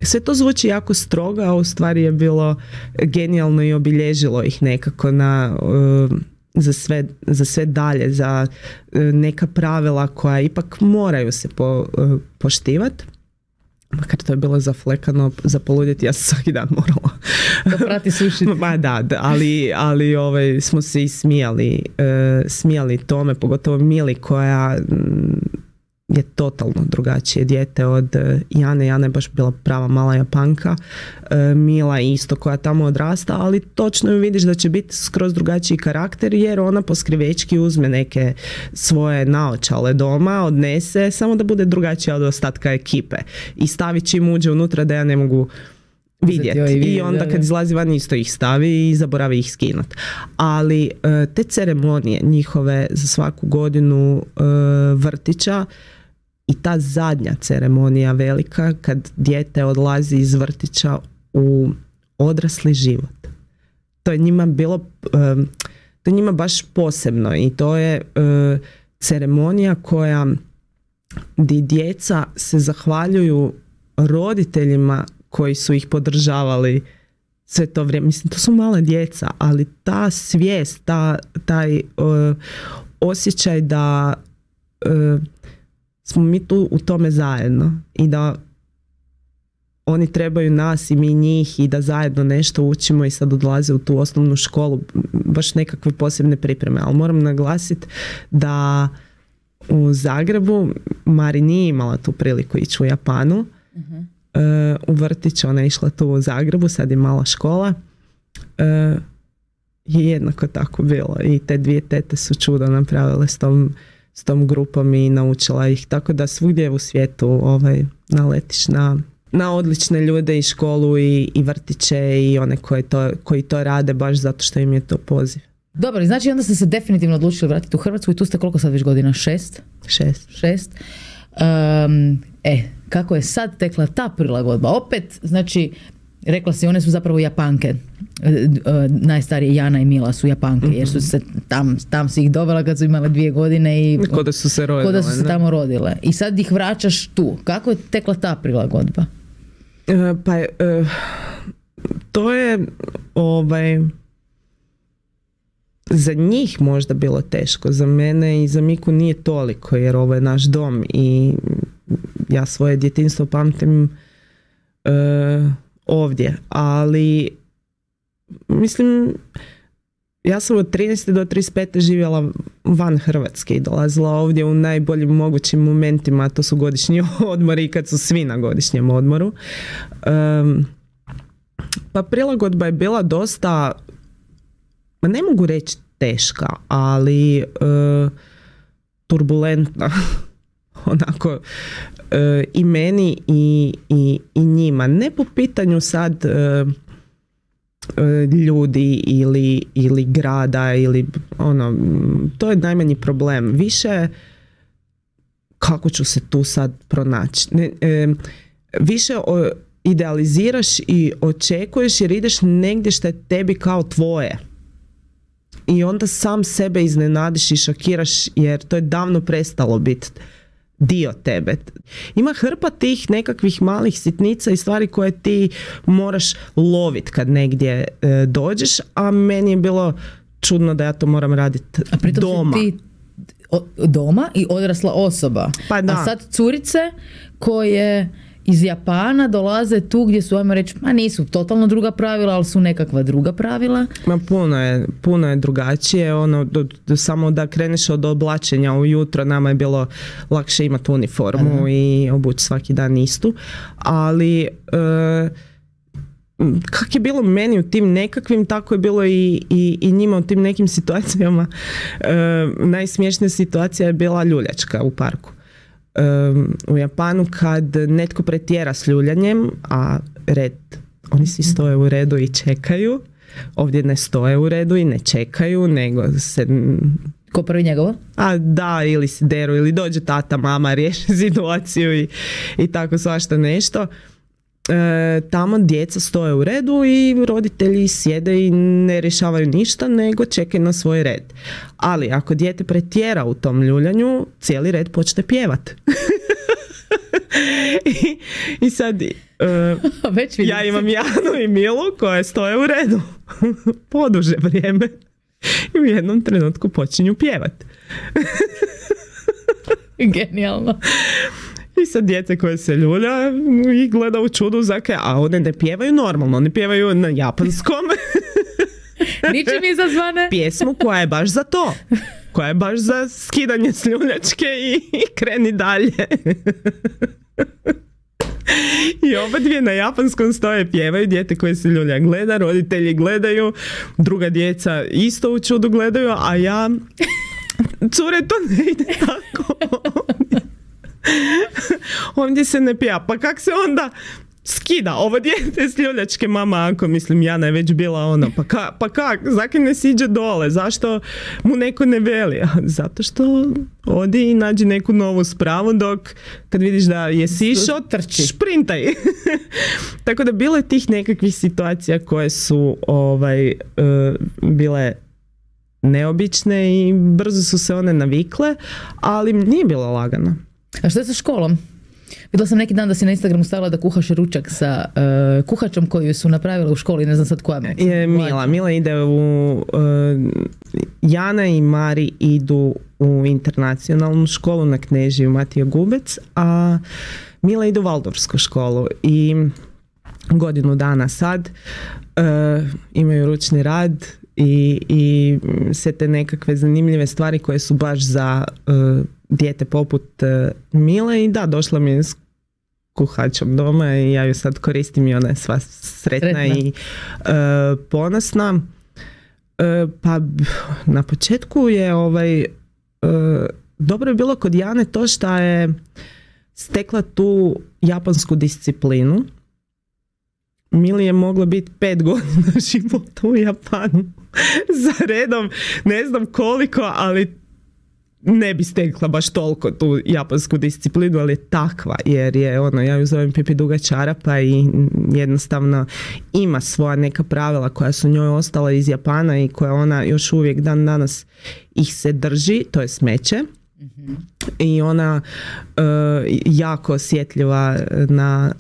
Sve to zvuči jako strogo, a u stvari je bilo genijalno i obilježilo ih nekako za sve dalje, za neka pravila koja ipak moraju se poštivati. Makar to je bilo zaflekano za poludjeti, ja sam svaki dan morala da prati sušiti. Ma da, ali smo se i smijali tome, pogotovo Mili koja je totalno drugačije dijete od Jane. Jana je baš bila prava mala Japanka, Mila isto koja tamo odrasta, ali točno ju vidiš da će biti skroz drugačiji karakter, jer ona poskrivečki uzme neke svoje naočale doma, odnese, samo da bude drugačija od ostatka ekipe i stavi čim uđe unutra da ja ne mogu vidjeti. I onda kad izlazi van isto ih stavi i zaboravi ih skinut. Ali te ceremonije njihove za svaku godinu vrtića i ta zadnja ceremonija velika kad dijete odlazi iz vrtića u odrasli život, to je njima bilo to je njima baš posebno i to je ceremonija gdje djeca se zahvaljuju roditeljima koji su ih podržavali sve to vrijeme. Mislim, to su mala djeca, ali ta svijest, taj osjećaj da smo mi tu u tome zajedno i da oni trebaju nas i mi njih i da zajedno nešto učimo i sad odlaze u tu osnovnu školu, baš nekakve posebne pripreme. Ali moram naglasiti da u Zagrebu Mari nije imala tu priliku ići u Japanu. U vrtić, ona je išla tu u Zagrebu, sad je mala škola, je jednako tako bilo i te dvije tete su čudo napravile s tom grupom i naučila ih, tako da svugdje u svijetu naletiš na na odlične ljude i školu i vrtiće i one koji to rade baš zato što im je to poziv. Dobro, znači onda ste se definitivno odlučili vratiti u Hrvatsku i tu ste koliko sad već godina? 6? 6. Kako je sad tekla ta prilagodba? Opet, znači, rekla si, one su zapravo Japanke. Najstarije Jana i Mila su Japanke, jer su se tam si ih dovela kad su imale 2 godine i ko da su se tamo rodile. I sad ih vraćaš tu. Kako je tekla ta prilagodba? To je za njih možda bilo teško, za mene i za Miku nije toliko, jer ovo je naš dom i ja svoje djetinjstvo pamtim ovdje, ali mislim, ja sam od 13. do 35. živjela van Hrvatske i dolazila ovdje u najboljim mogućim momentima, a to su godišnji odmori i kad su svi na godišnjem odmoru. Pa prilagodba je bila dosta, ma ne mogu reći teška, ali turbulentna. Onako i meni i njima. Ne po pitanju sad ljudi ili grada ili to je najmanji problem. Više kako ću se tu sad pronaći. Više idealiziraš i očekuješ jer ideš negdje što je tebi kao tvoje. I onda sam sebe iznenadiš i šokiraš jer to je davno prestalo biti dio tebe. Ima hrpa tih nekakvih malih sitnica i stvari koje ti moraš lovit kad negdje dođeš, a meni je bilo čudno da ja to moram raditi doma. Si ti doma i odrasla osoba. Pa da. A sad curice koje iz Japana dolaze tu gdje su, ajmo reći, nisu totalno druga pravila, ali su nekakva druga pravila. Ma puno je drugačije. Samo da kreneš od oblačenja ujutro, nama je bilo lakše imati uniformu i obući svaki dan istu. Ali kak je bilo meni u tim nekakvim, tako je bilo i njima u tim nekim situacijama. Najsmiješnija situacija je bila ljuljačka u parku. U Japanu kad netko pretjera s ljuljanjem, a oni svi stoje u redu i čekaju, ovdje ne stoje u redu i ne čekaju, nego se... Ko prvi njegovo? A da, ili se deru, ili dođe tata, mama, riješi situaciju i tako svašta nešto. Tamo djeca stoje u redu i roditelji sjede i ne rješavaju ništa, nego čekaju na svoj red. Ali ako dijete pretjera u tom ljuljanju, cijeli red počne pjevat. I sad ja imam Janu i Milu koje stoje u redu poduže vrijeme i u jednom trenutku počinju pjevat. Genijalno. I sad djece koje se ljulja i gleda u čudu a one ne pjevaju normalno, one pjevaju na japanskom. Ničim izazvane. Pjesmu koja je baš za to. Koja je baš za skidanje s ljuljačke i kreni dalje. I oba dvije na japanskom stoje pjevaju, dijete koje se ljulja gleda, roditelji gledaju, druga djeca isto u čudu gledaju, a ja, cure, to ne ide tako. Ovdje se ne pija. Pa kak se onda skida ovo dijete s ljuljačke, mama, ako mislim Jana je već bila pa kak, zakaj ne siđe dole, zašto mu neko ne veli? Zato što odi i nađi neku novu spravu, dok kad vidiš da je sišao, šprintaj. Tako da bilo je tih nekakvih situacija koje su bile neobične i brzo su se one navikle, ali nije bilo lagano. A što je sa školom? Vidjela sam neki dan da si na Instagramu stavila da kuhaš ručak sa kuhačom koju su napravila u školi, ne znam sad koja. Mila ide Jana i Mari idu u internacionalnu školu na Knežiju Matija Gubec, a Mila ide u Valdorfsku školu i godinu dana sad imaju ručni rad i sve te nekakve zanimljive stvari koje su baš za dijete poput Mile i da, došla mi je s kuhačom doma i ja ju sad koristim i ona je sva sretna i ponosna. Pa na početku je dobro je bilo kod Jane to što je stekla tu japansku disciplinu. Mili je moglo biti 5 godina života u Japanu za redom, ne znam koliko, ali ne bi stekla baš toliko tu japansku disciplinu, ali je takva, jer je ono, ja ju zovem pipi duga čarapa i jednostavno ima svoja neka pravila koja su njoj ostala iz Japana i koja ona još uvijek dan danas ih se drži, to je smeće. I ona jako osjetljiva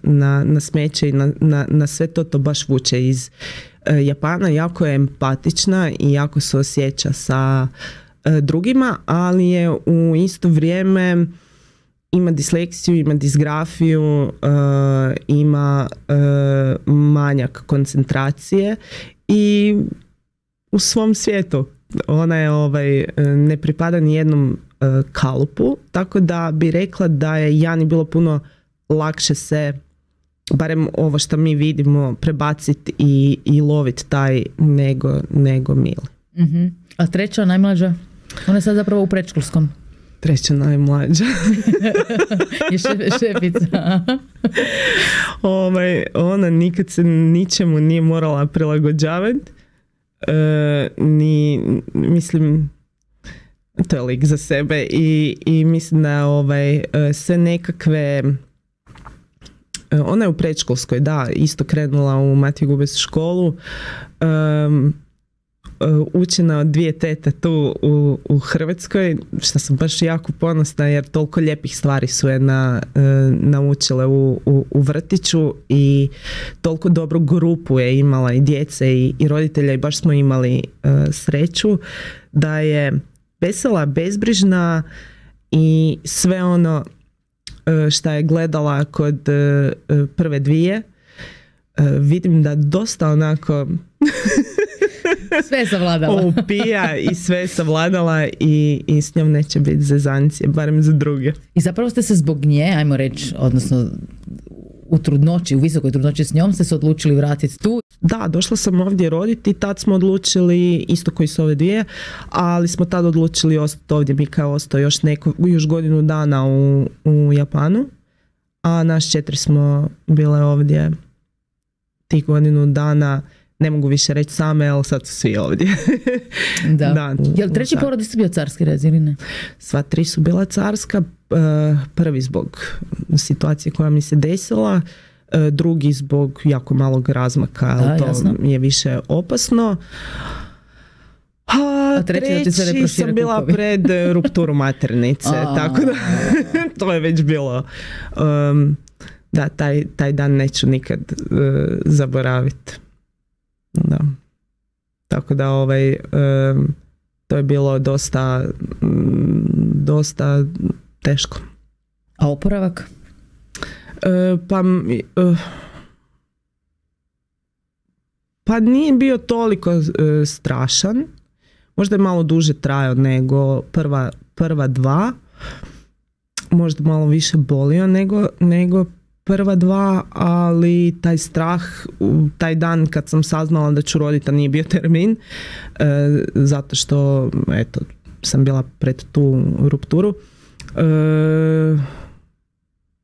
na smeće i na sve to baš vuče iz Japana, jako je empatična i jako se osjeća sa drugima, ali je u isto vrijeme ima disleksiju, ima disgrafiju, ima manjak koncentracije i u svom svijetu ona je ne pripada ni jednom kalupu, tako da bi rekla da je Jani bilo puno lakše se, barem ovo što mi vidimo, prebaciti i loviti taj nego Mili. Uh-huh. A treća, najmlađa? Ona je sad zapravo u predškolskom. Treća najmlađa. Je šefica. Ona nikad se ničemu nije morala prilagođavati. Mislim, to je lik za sebe i mislim da sve nekakve, ona je u predškolskoj, da, isto krenula u Matiju Gubes školu, učena od 2 tete tu u Hrvatskoj, što sam baš jako ponosna jer toliko lijepih stvari su je naučile u vrtiću i toliko dobru grupu je imala i djece i roditelja i baš smo imali sreću da je vesela, bezbrižna i sve ono što je gledala kod prve 2, vidim da dosta onako sve savladala. Upija i sve savladala i s njom neće biti zezancije, barem za druge. I zapravo ste se zbog nje, ajmo reći, odnosno u trudnoći, u visokoj trudnoći s njom ste se odlučili vratiti tu? Da, došla sam ovdje roditi, tad smo odlučili, isto koji su ove 2, ali smo tad odlučili ostati ovdje. Mika je ostao još godinu dana u Japanu, a nas 4 smo bile ovdje tih godinu dana. Ne mogu više reći same, ali sad su svi ovdje. Da. Je li treći porod isto bio carski rez ili ne? Sva 3 su bila carska. Prvi zbog situacije koja mi se desila, drugi zbog jako malog razmaka, ali to jasno. Je više opasno. A treći sam bila pred rupturu maternice, tako da to je već bilo. Da, taj dan neću nikad zaboraviti. Da. Tako da to je bilo dosta teško. A oporavak? Pa nije bio toliko strašan. Možda je malo duže trajao nego prva 2. Možda malo više bolio nego prva 2, ali taj strah, taj dan kad sam saznala da ću roditi, nije bio termin, zato što sam bila pred tu rupturu,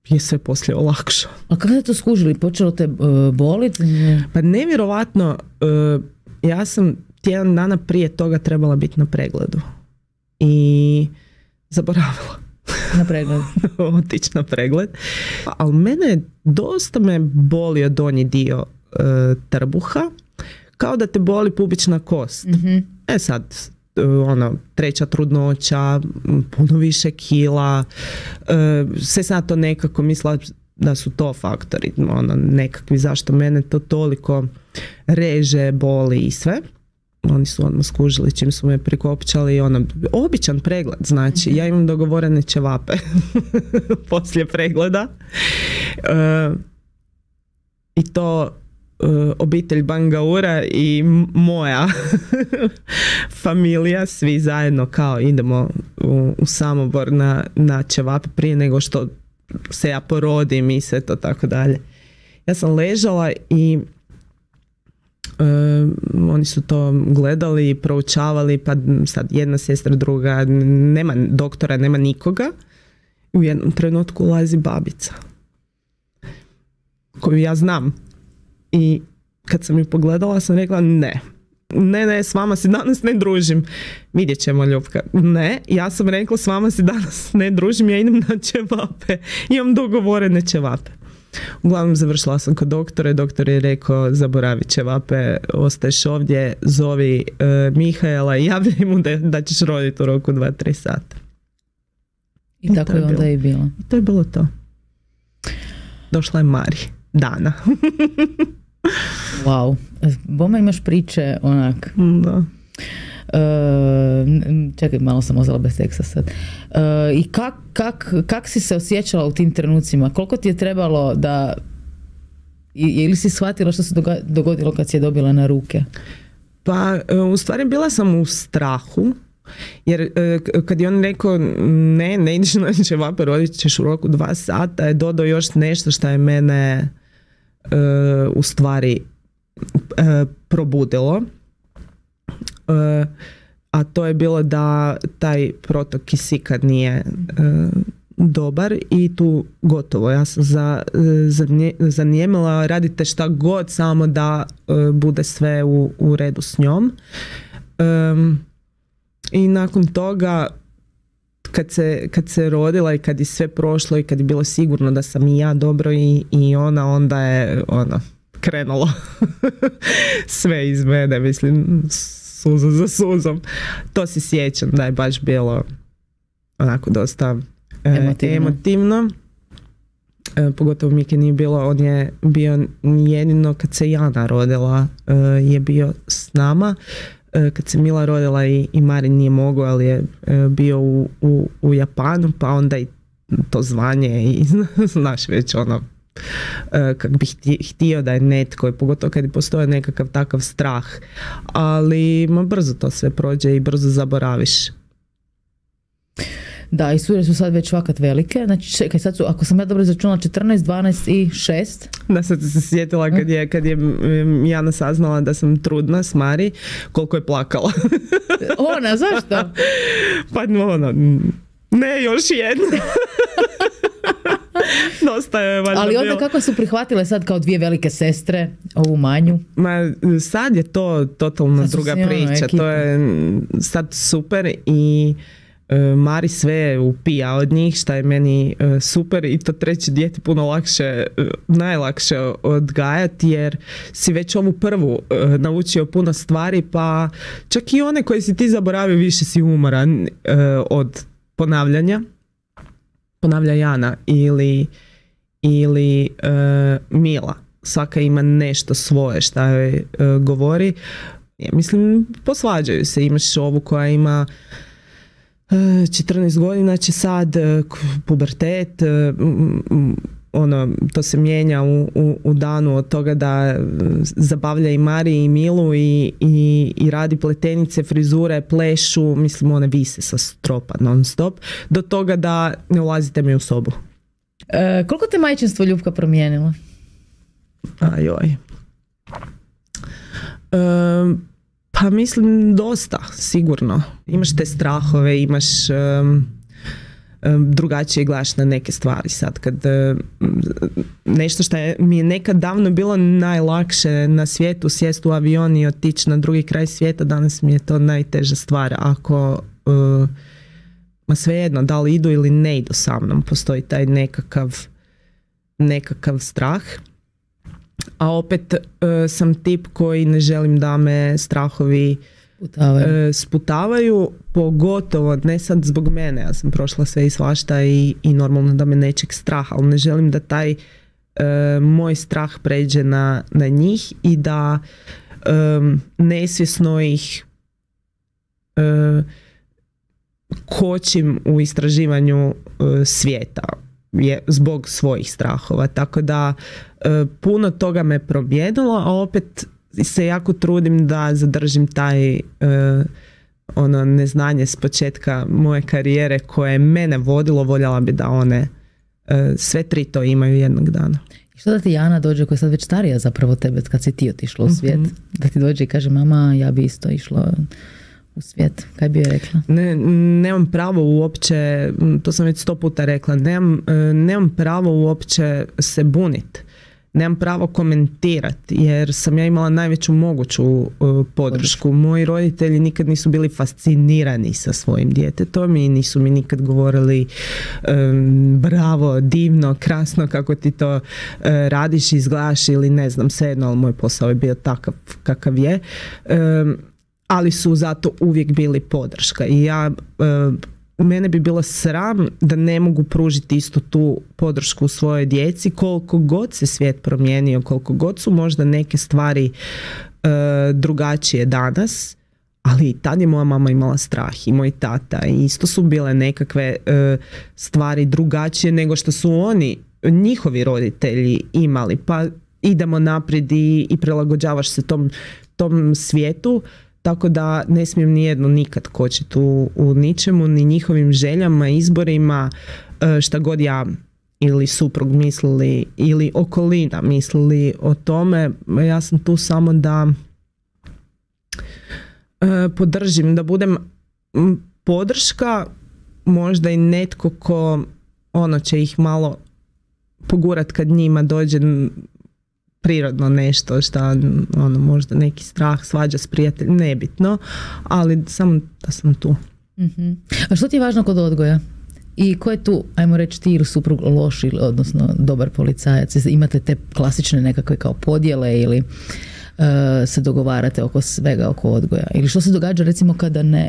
je sve poslije olakšao. A kako ste to skužili? Počelo te boliti? Pa nevjerovatno, ja sam tjedan dana prije toga trebala biti na pregledu i zaboravila. Na pregled. Otići na pregled. Ali mene dosta me bolio donji dio trbuha, kao da te boli pubična kost. Mm-hmm. Sad, treća trudnoća, puno više kila, sve sad to nekako mislila da su to faktori, nekakvi zašto mene to toliko reže, boli i sve. Oni su odmah skužili čim su me prikopčali, običan pregled, znači ja imam dogovorene ćevape poslije pregleda i to obitelj Bangaura i moja familija, svi zajedno kao idemo u Samobor na ćevape prije nego što se ja porodim i sve to tako dalje. Ja sam ležala i oni su to gledali, proučavali, pa sad jedna sestra, druga, nema doktora, nema nikoga. u jednom trenutku ulazi babica koju ja znam i kad sam ju pogledala sam rekla ne, s vama se danas ne družim. Vidjet ćemo, Ljupka. Ne, ja sam rekla s vama se danas ne družim, ja idem na ćevape. Imam dogovorene ćevape. Uglavnom završila sam kod doktora i doktor je rekao zaboravi ćevape, ostaješ ovdje, zovi Mihaela i javljaj mu da ćeš roditi u roku 2-3 sata. I tako je onda i bilo. I to je bilo to. Došla je Mari. Dana. Wow. Boma imaš priče onak. Da. Čekaj, malo sam ozvala bez teksta sad. I kak si se osjećala u tim trenucima? Koliko ti je trebalo da... Ili si shvatila što se dogodilo kad si je dobila na ruke? Pa, u stvari bila sam u strahu. Jer kad je on rekao ne ideš na ćevape, rodit ćeš u roku 2 sata, je dodao još nešto što je mene u stvari probudilo. A to je bilo da taj protok kisika nije dobar i tu gotovo. Ja sam zanijemila, radite šta god, samo da bude sve u redu s njom. I nakon toga kad se rodila i kad je sve prošlo i kad je bilo sigurno da sam i ja dobro i ona, onda je krenulo sve iz mene, mislim, suza za suzom. To se sjećam da je baš bilo onako dosta emotivno. Pogotovo Miki nije bilo, on je bio jedino kad se Jana rodila, je bio s nama. Kad se Mila rodila i Marin nije mogao, ali je bio u Japanu, pa onda i to zvanje i znaš već kak bih htio da je netko, pogotovo kad je postoje nekakav takav strah, ali brzo to sve prođe i brzo zaboraviš. Da, i sure su sad već fakat velike. Znači, čekaj, sad su, ako sam ja dobro izračunala, 14, 12 i 6. Da, sad se sjetila kad je Jana saznala da sam trudna s Mari, koliko je plakala. Ona, zašto? Pa ne, još jedna. Dosta je valjda. Ali onda kako su prihvatile sad kao 2 velike sestre ovu manju? Ma sad je to totalno druga priča. To je sad super i Mari sve upija od njih, šta je meni super, i to treće dijete puno najlakše odgajati, jer si već ovu prvu naučio puno stvari, pa čak i one koje si ti zaboravio više si umoran od ponavlja Jana ili Mila. Svaka ima nešto svoje šta joj govori. Ja mislim, posvađaju se. Imaš ovu koja ima 14 godina, će sad pubertet, to se mijenja u danu od toga da zabavlja i Mari i Milu i radi pletenice, frizure, plešu, mislim one vise sa stropa non stop, do toga da ne ulazite mi u sobu. Koliko te majčinstvo, Ljupka, promijenilo? Ajoj. Pa mislim dosta, sigurno. Imaš te strahove, imaš drugačije gledaš na neke stvari sad. Kad nešto što mi je nekad davno bilo najlakše na svijetu, sjest u avion i otići na drugi kraj svijeta, danas mi je to najteža stvar. Ako svejedno, da li idu ili ne idu sa mnom, postoji taj nekakav strah. A opet sam tip koji ne želim da me strahovi sputavaju, pogotovo ne sad zbog mene, ja sam prošla sve i svašta i normalno da me nečeg straha, ali ne želim da taj moj strah pređe na njih i da nesvjesno ih kočim u istraživanju svijeta zbog svojih strahova, tako da puno toga me promijenilo, a opet se jako trudim da zadržim taj neznanje s početka moje karijere koje je mene vodilo, voljela bi da one sve 3 to imaju jednog dana. I što da ti Jana dođe, koja je sad već starija zapravo tebe kad si ti otišla u svijet, da ti dođe i kaže mama, ja bi isto išla u svijet? Kaj bi joj rekla? Nemam pravo uopće, to sam već 100 puta rekla, nemam pravo uopće se buniti. Nemam pravo komentirati jer sam ja imala najveću moguću podršku. Moji roditelji nikad nisu bili fascinirani sa svojim djetetom i nisu mi nikad govorili bravo, divno, krasno kako ti to radiš, izgledaš ili ne znam, svejedno, ali moj posao je bio takav kakav je. Ali su zato uvijek bili podrška i mene bi bilo sram da ne mogu pružiti isto tu podršku svojoj djeci koliko god se svijet promijenio, koliko god su možda neke stvari drugačije danas, ali tad je moja mama imala strah i moj tata i isto su bile nekakve stvari drugačije nego što su njihovi roditelji imali, pa idemo naprijed i prilagođavaš se tom svijetu. Tako da ne smijem nijedno nikad kočiti u ničemu, ni njihovim željama, izborima, šta god ja ili suprug mislili ili okolina mislili o tome. Ja sam tu samo da podržim, da budem podrška, možda i netko ko će ih malo pogurat kad njima dođe prirodno nešto šta možda neki strah, svađa s prijateljem, nebitno, ali samo da sam tu. Uh-huh. A što ti je važno kod odgoja? I ko je tu, ajmo reći, ti ili suprug loš ili odnosno dobar policajac? Imate te klasične nekakve kao podjele ili se dogovarate oko svega, oko odgoja? Ili što se događa recimo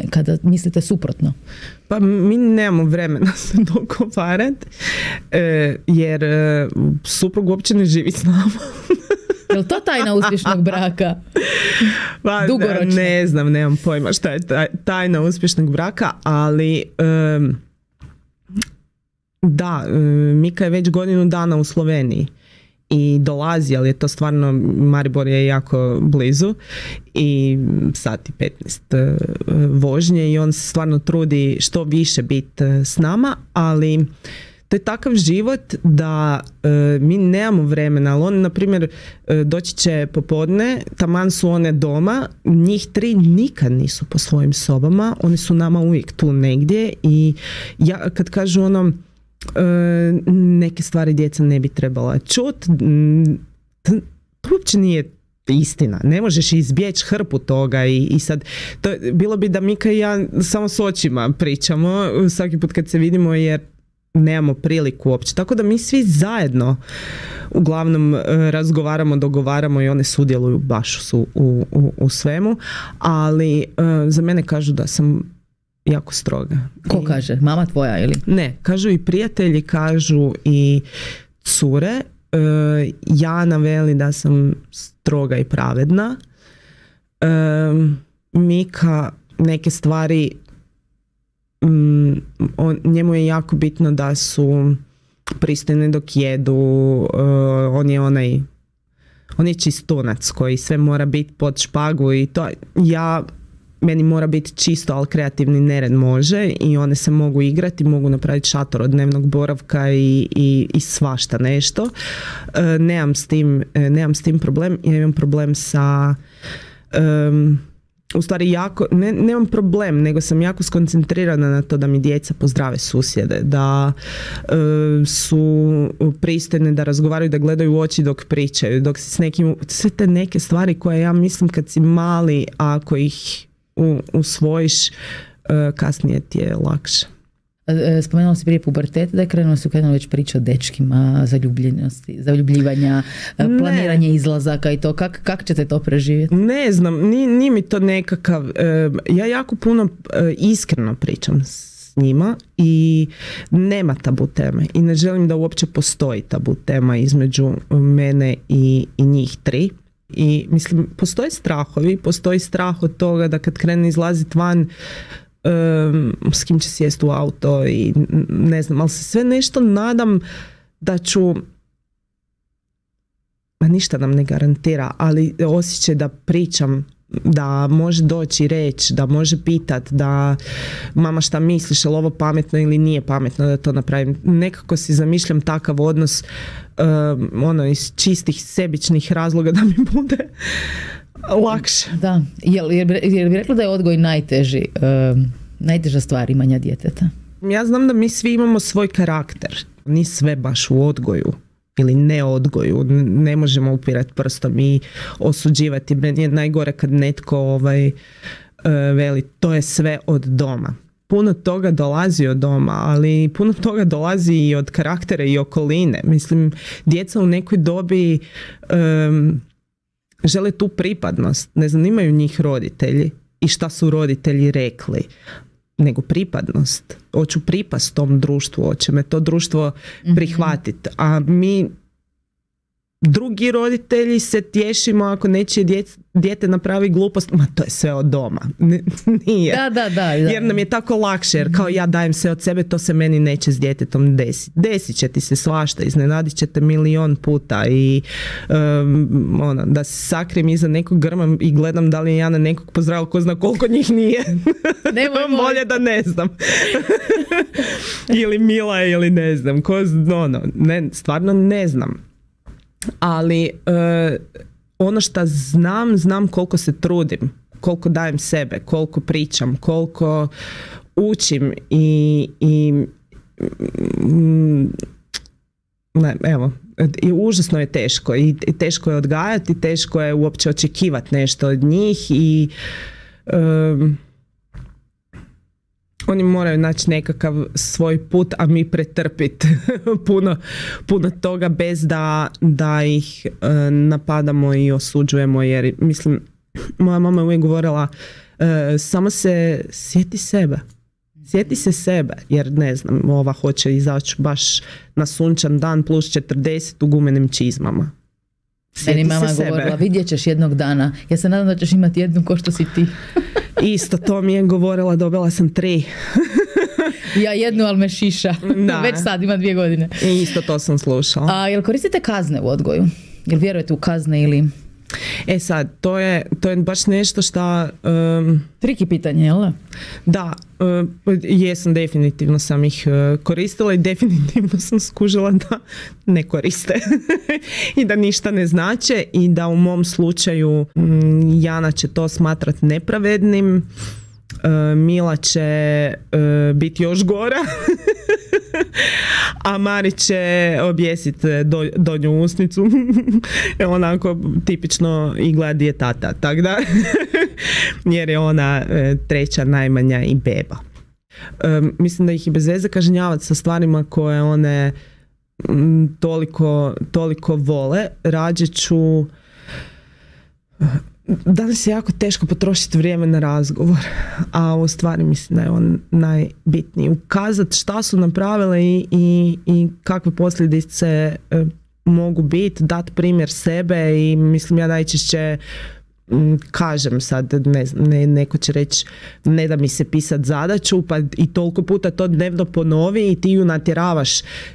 kada mislite suprotno? Pa mi nemamo vremena se dogovarati jer suprug uopće ne živi s nama. Je li to tajna uspješnog braka? Pa, dugoročno? Ne znam, nemam pojma šta je tajna uspješnog braka, ali Mika je već godinu dana u Sloveniji i dolazi, ali je to stvarno, Maribor je jako blizu i sat i 15 vožnje i on se stvarno trudi što više biti s nama, ali to je takav život da mi nemamo vremena, ali on, na primjer, doći će popodne, taman su one doma, njih 3 nikad nisu po svojim sobama, oni su nama uvijek tu negdje i ja kad kažu neke stvari djeca ne bi trebala čuti, to uopće nije istina, ne možeš izbjeći hrpu toga i sad, bilo bi da Mika i ja samo s očima pričamo svaki put kad se vidimo jer nemamo priliku uopće. Tako da mi svi zajedno uglavnom razgovaramo, dogovaramo i one sudjeluju baš u svemu, ali za mene kažu da sam jako stroga. Ko kaže? Mama tvoja ili? Ne, kažu i prijatelji, kažu i cure. Jana veli da sam stroga i pravedna. Mika neke stvari, njemu je jako bitno da su pristojni dok jedu, on je čistunac koji sve mora biti pod špagu i to meni mora biti čisto, ali kreativni nered može i one se mogu igrati, mogu napraviti šator od dnevnog boravka i svašta nešto. Nemam s tim problem, ja imam problem sa u stvari nemam problem, nego sam jako skoncentrirana na to da mi djeca pozdrave susjede, da su pristojne, da razgovaraju, da gledaju u oči dok pričaju, dok si s nekim, sve te neke stvari koje ja mislim kad si mali, ako ih usvojiš, kasnije ti je lakše. Spomenula si prije puberteta, da je krenula već priča o dečkima, zaljubljenosti, zaljubljivanja, planiranje izlazaka i to. Kako ćete to preživjeti? Ne znam, nije mi to nekakav... Ja jako puno iskreno pričam s njima i nema tabu teme i ne želim da uopće postoji tabu tema između mene i njih 3. I mislim, postoji strah od toga da kad krene izlaziti van, s kim će sjesti u auto i ne znam, ali se sve nešto nadam da ću, ništa nam ne garantira, ali osjećaj da pričam, da može doći i reći, da može pitat, da mama šta misliš, je li ovo pametno ili nije pametno da to napravim. Nekako si zamišljam takav odnos iz čistih sebičnih razloga da mi bude lakše. Da. Jel bi rekla da je odgoj najteža stvar imanja djeteta? Ja znam da mi svi imamo svoj karakter. Ni sve baš u odgoju ili ne odgoju. Ne možemo upirati prstom i osuđivati. Meni je najgore kad netko veli to je sve od doma. Puno toga dolazi od doma, ali puno toga dolazi i od karaktera i okoline. Mislim, djeca u nekoj dobi žele tu pripadnost. Ne zanimaju njih roditelji i šta su roditelji rekli, nego pripadnost. Hoću pripast tom društvu, hoće me to društvo prihvatiti. A mi drugi roditelji se tješimo ako nečije dijete napravi glupost, ma to je sve od doma. Nije. Da. Jer nam je tako lakše, jer kao ja dajem sve od sebe, to se meni neće s djetetom desiti. Desit će ti se svašta, iznenadit ćete milion puta i da se sakrijem iza nekog grma i gledam da li je Jana nekog pozdravila, ko zna koliko njih nije. Bolje da ne znam. Ili Mila ili ne znam. Stvarno ne znam. Ali ono što znam koliko se trudim, koliko dajem sebe, koliko pričam, koliko učim i užasno je teško i teško je odgajati, teško je uopće očekivati nešto od njih i oni moraju naći nekakav svoj put, a mi pretrpiti puno toga bez da ih napadamo i osuđujemo, jer mislim, moja mama je uvijek govorila samo se sjeti sebe. Sjeti se sebe, jer ne znam, ova hoće izaći baš na sunčan dan plus 40 u gumenim čizmama. Meni mama govorila, vidjet ćeš jednog dana. Ja se nadam da ćeš imati jednu ko što si ti. Isto to mi je govorila, dobila sam 3. Ja jednu, ali me šiša. Već sad ima 2 godine. Isto to sam slušala. A jel koristite kazne u odgoju? Jel vjerujete u kazne ili... Sad, to je baš nešto što... Triki pitanje, jel da? Da, jesam, definitivno sam ih koristila i definitivno sam skužila da ne koriste i da ništa ne znače i da u mom slučaju Jana će to smatrati nepravednim, Mila će biti još gora, a Mari će objesiti donju usnicu. Onako tipično i gleda gdje je tata, tako da jer je ona 3. najmanja i beba. Mislim da ih i bez veze kažnjavati sa stvarima koje one toliko vole. Rađe ću... Danas je jako teško potrošiti vrijeme na razgovor, a u stvari mislim da je on najbitniji. Ukazati šta su napravile i kakve posljedice mogu biti, dati primjer sebe i mislim ja najčešće kažem sad, neko će reći ne da mi se pisat zadaću, pa i toliko puta to dnevno ponovi i ti ju natjeravaš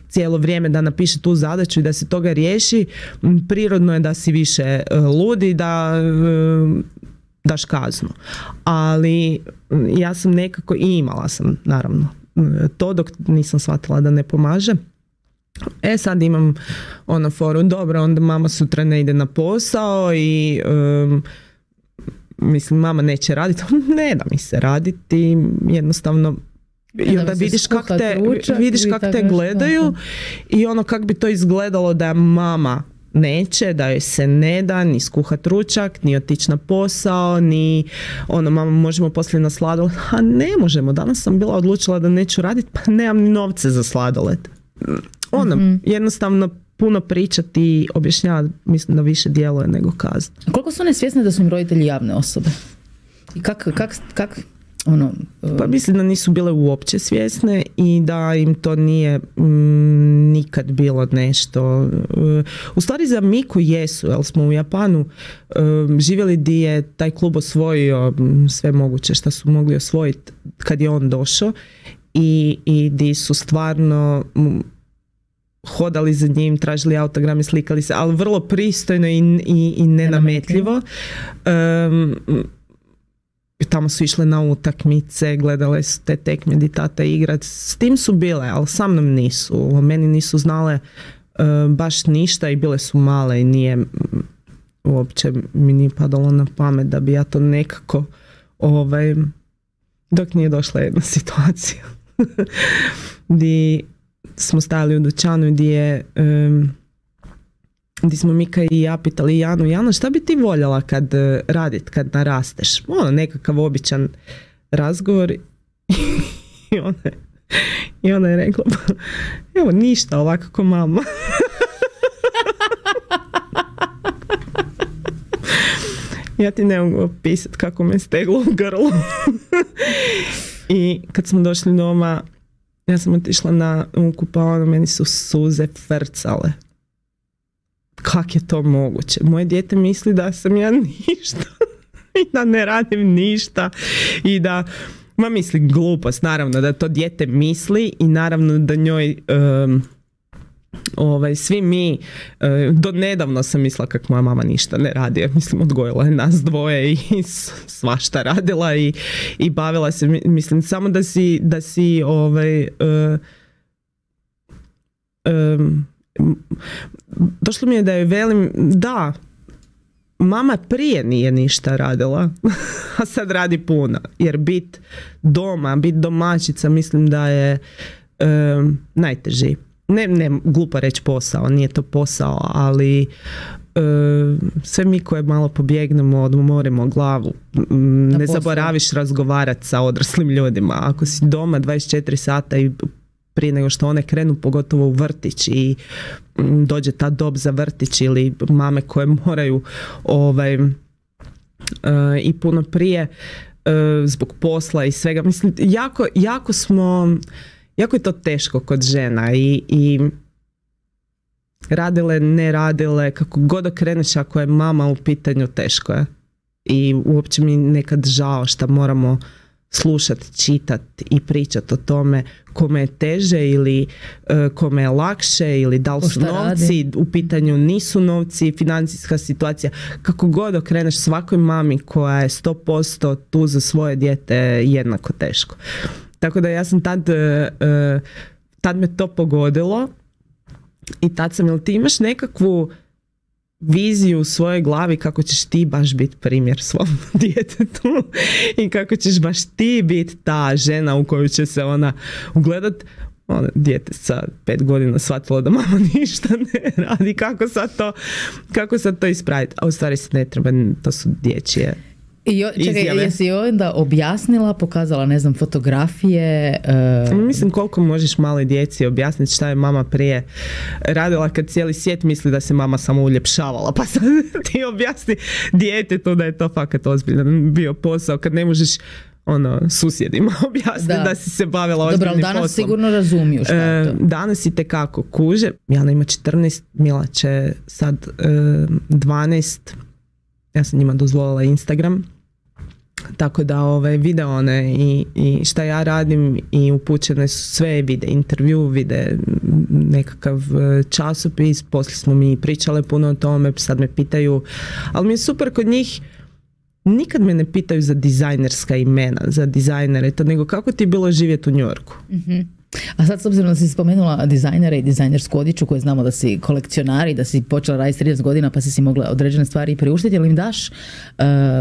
cijelo vrijeme da napiše tu zadaću i da se toga riješi. Prirodno je da si više ludi, da daš kaznu. Ali ja sam nekako i imala sam naravno to dok nisam shvatila da ne pomaže. Sad imam foru, dobro, onda mama sutra ne ide na posao i mislim mama neće raditi, ne da mi se raditi, jednostavno i onda vidiš kak te gledaju i kak bi to izgledalo da mama neće, da joj se ne da ni skuhat ručak, ni otići na posao, ni mama možemo poslije na sladoled, a ne možemo, danas sam bila odlučila da neću raditi, pa nemam ni novce za sladoled. Jednostavno puno pričati i objašnjavati, mislim da više djeluje nego kazna. A koliko su one svjesne da su im roditelji javne osobe? I kak Pa mislim da nisu bile uopće svjesne i da im to nije nikad bilo nešto. U stvari za Miku jesu, jer smo u Japanu živjeli gdje je taj klub osvojio sve moguće što su mogli osvojiti kad je on došao i di su stvarno hodali za njim, tražili autograme, slikali se, ali vrlo pristojno i nenametljivo. Tamo su išle na utakmice, gledale su te tekme di tata igrat. S tim su bile, ali sa mnom nisu. O meni nisu znale baš ništa i bile su male i nije uopće mi nije padalo na pamet da bi ja to nekako dok nije došla jedna situacija gdje smo stajali u dućanu gdje smo Mika i ja pitali Janu, šta bi ti voljela kad narasteš? Nekakav običan razgovor i ona je rekla, evo ništa, ovako ko mama. Ja ti ne mogu opisati kako me steglo u grlu. I kad smo došli doma, ja sam otišla na kupaonu, meni su suze frcale. Kak je to moguće? Moje dijete misli da sam ja ništa i da ne radim ništa i da, mislim glupost, naravno da to dijete misli i naravno da njoj svi mi, do nedavno sam mislila kako moja mama ništa ne radi, mislim odgojila je nas dvoje i svašta radila i bavila se, mislim samo da si došlo mi je da je velim, da, mama prije nije ništa radila, a sad radi puno, jer bit doma, bit domaćica, mislim da je najteži. Ne, glupo reći posao, nije to posao, ali sve mi koje malo pobjegnemo, odmorimo glavu, ne zaboraviš razgovarati sa odraslim ljudima. Ako si doma 24 sata i prije nego što one krenu, pogotovo u vrtić i dođe ta dob za vrtić ili mame koje moraju i puno prije zbog posla i svega. Mislim, jako je to teško kod žena i radile, ne radile, kako god okreneš, ako je mama u pitanju, teško je. I uopće mi nekad žao što moramo slušati, čitati i pričati o tome kome je teže ili kome je lakše ili da li su novci u pitanju, nisu novci, financijska situacija. Kako god okreneš, svakoj mami koja je 100% tu za svoje dijete jednako teško. Tako da ja sam tad me to pogodilo i tad sam, jel ti imaš nekakvu viziju u svojoj glavi kako ćeš ti baš biti primjer svom djetetu i kako ćeš baš ti biti ta žena u koju će se ona ugledat? Dijete sa 5 godina shvatilo da mama ništa ne radi, kako sad to ispraviti? A u stvari se ne treba, to su dječje izjave. Jesi onda objasnila, pokazala, ne znam, fotografije? Mislim, koliko možeš maloj djeci objasniti šta je mama prije radila kad cijeli svijet misli da se mama samo uljepšavala, pa sad ti objasni djetetu da je to fakat ozbiljan bio posao, kad ne možeš susjedima objasniti da si se bavila ozbiljnim poslom. Dobro, ali danas sigurno razumiju šta je to. Danas i tekako kuže. Jana ima 14, Mila će sad 12. Ja sam njima dozvolila Instagram, tako da vide one i šta ja radim i upućene su sve, vide intervju, vide nekakav časopis, poslije smo mi pričale puno o tome, sad me pitaju, ali mi je super kod njih, nikad me ne pitaju za dizajnerska imena, za dizajnere, nego kako ti je bilo živjeti u New Yorku. Mm-hmm. A sad, s obzirom da si spomenula dizajnere i dizajnersku odjeću, koje znamo da si kolekcionar i da si počela raditi 30 godina pa si mogla određene stvari priuštiti, ali im daš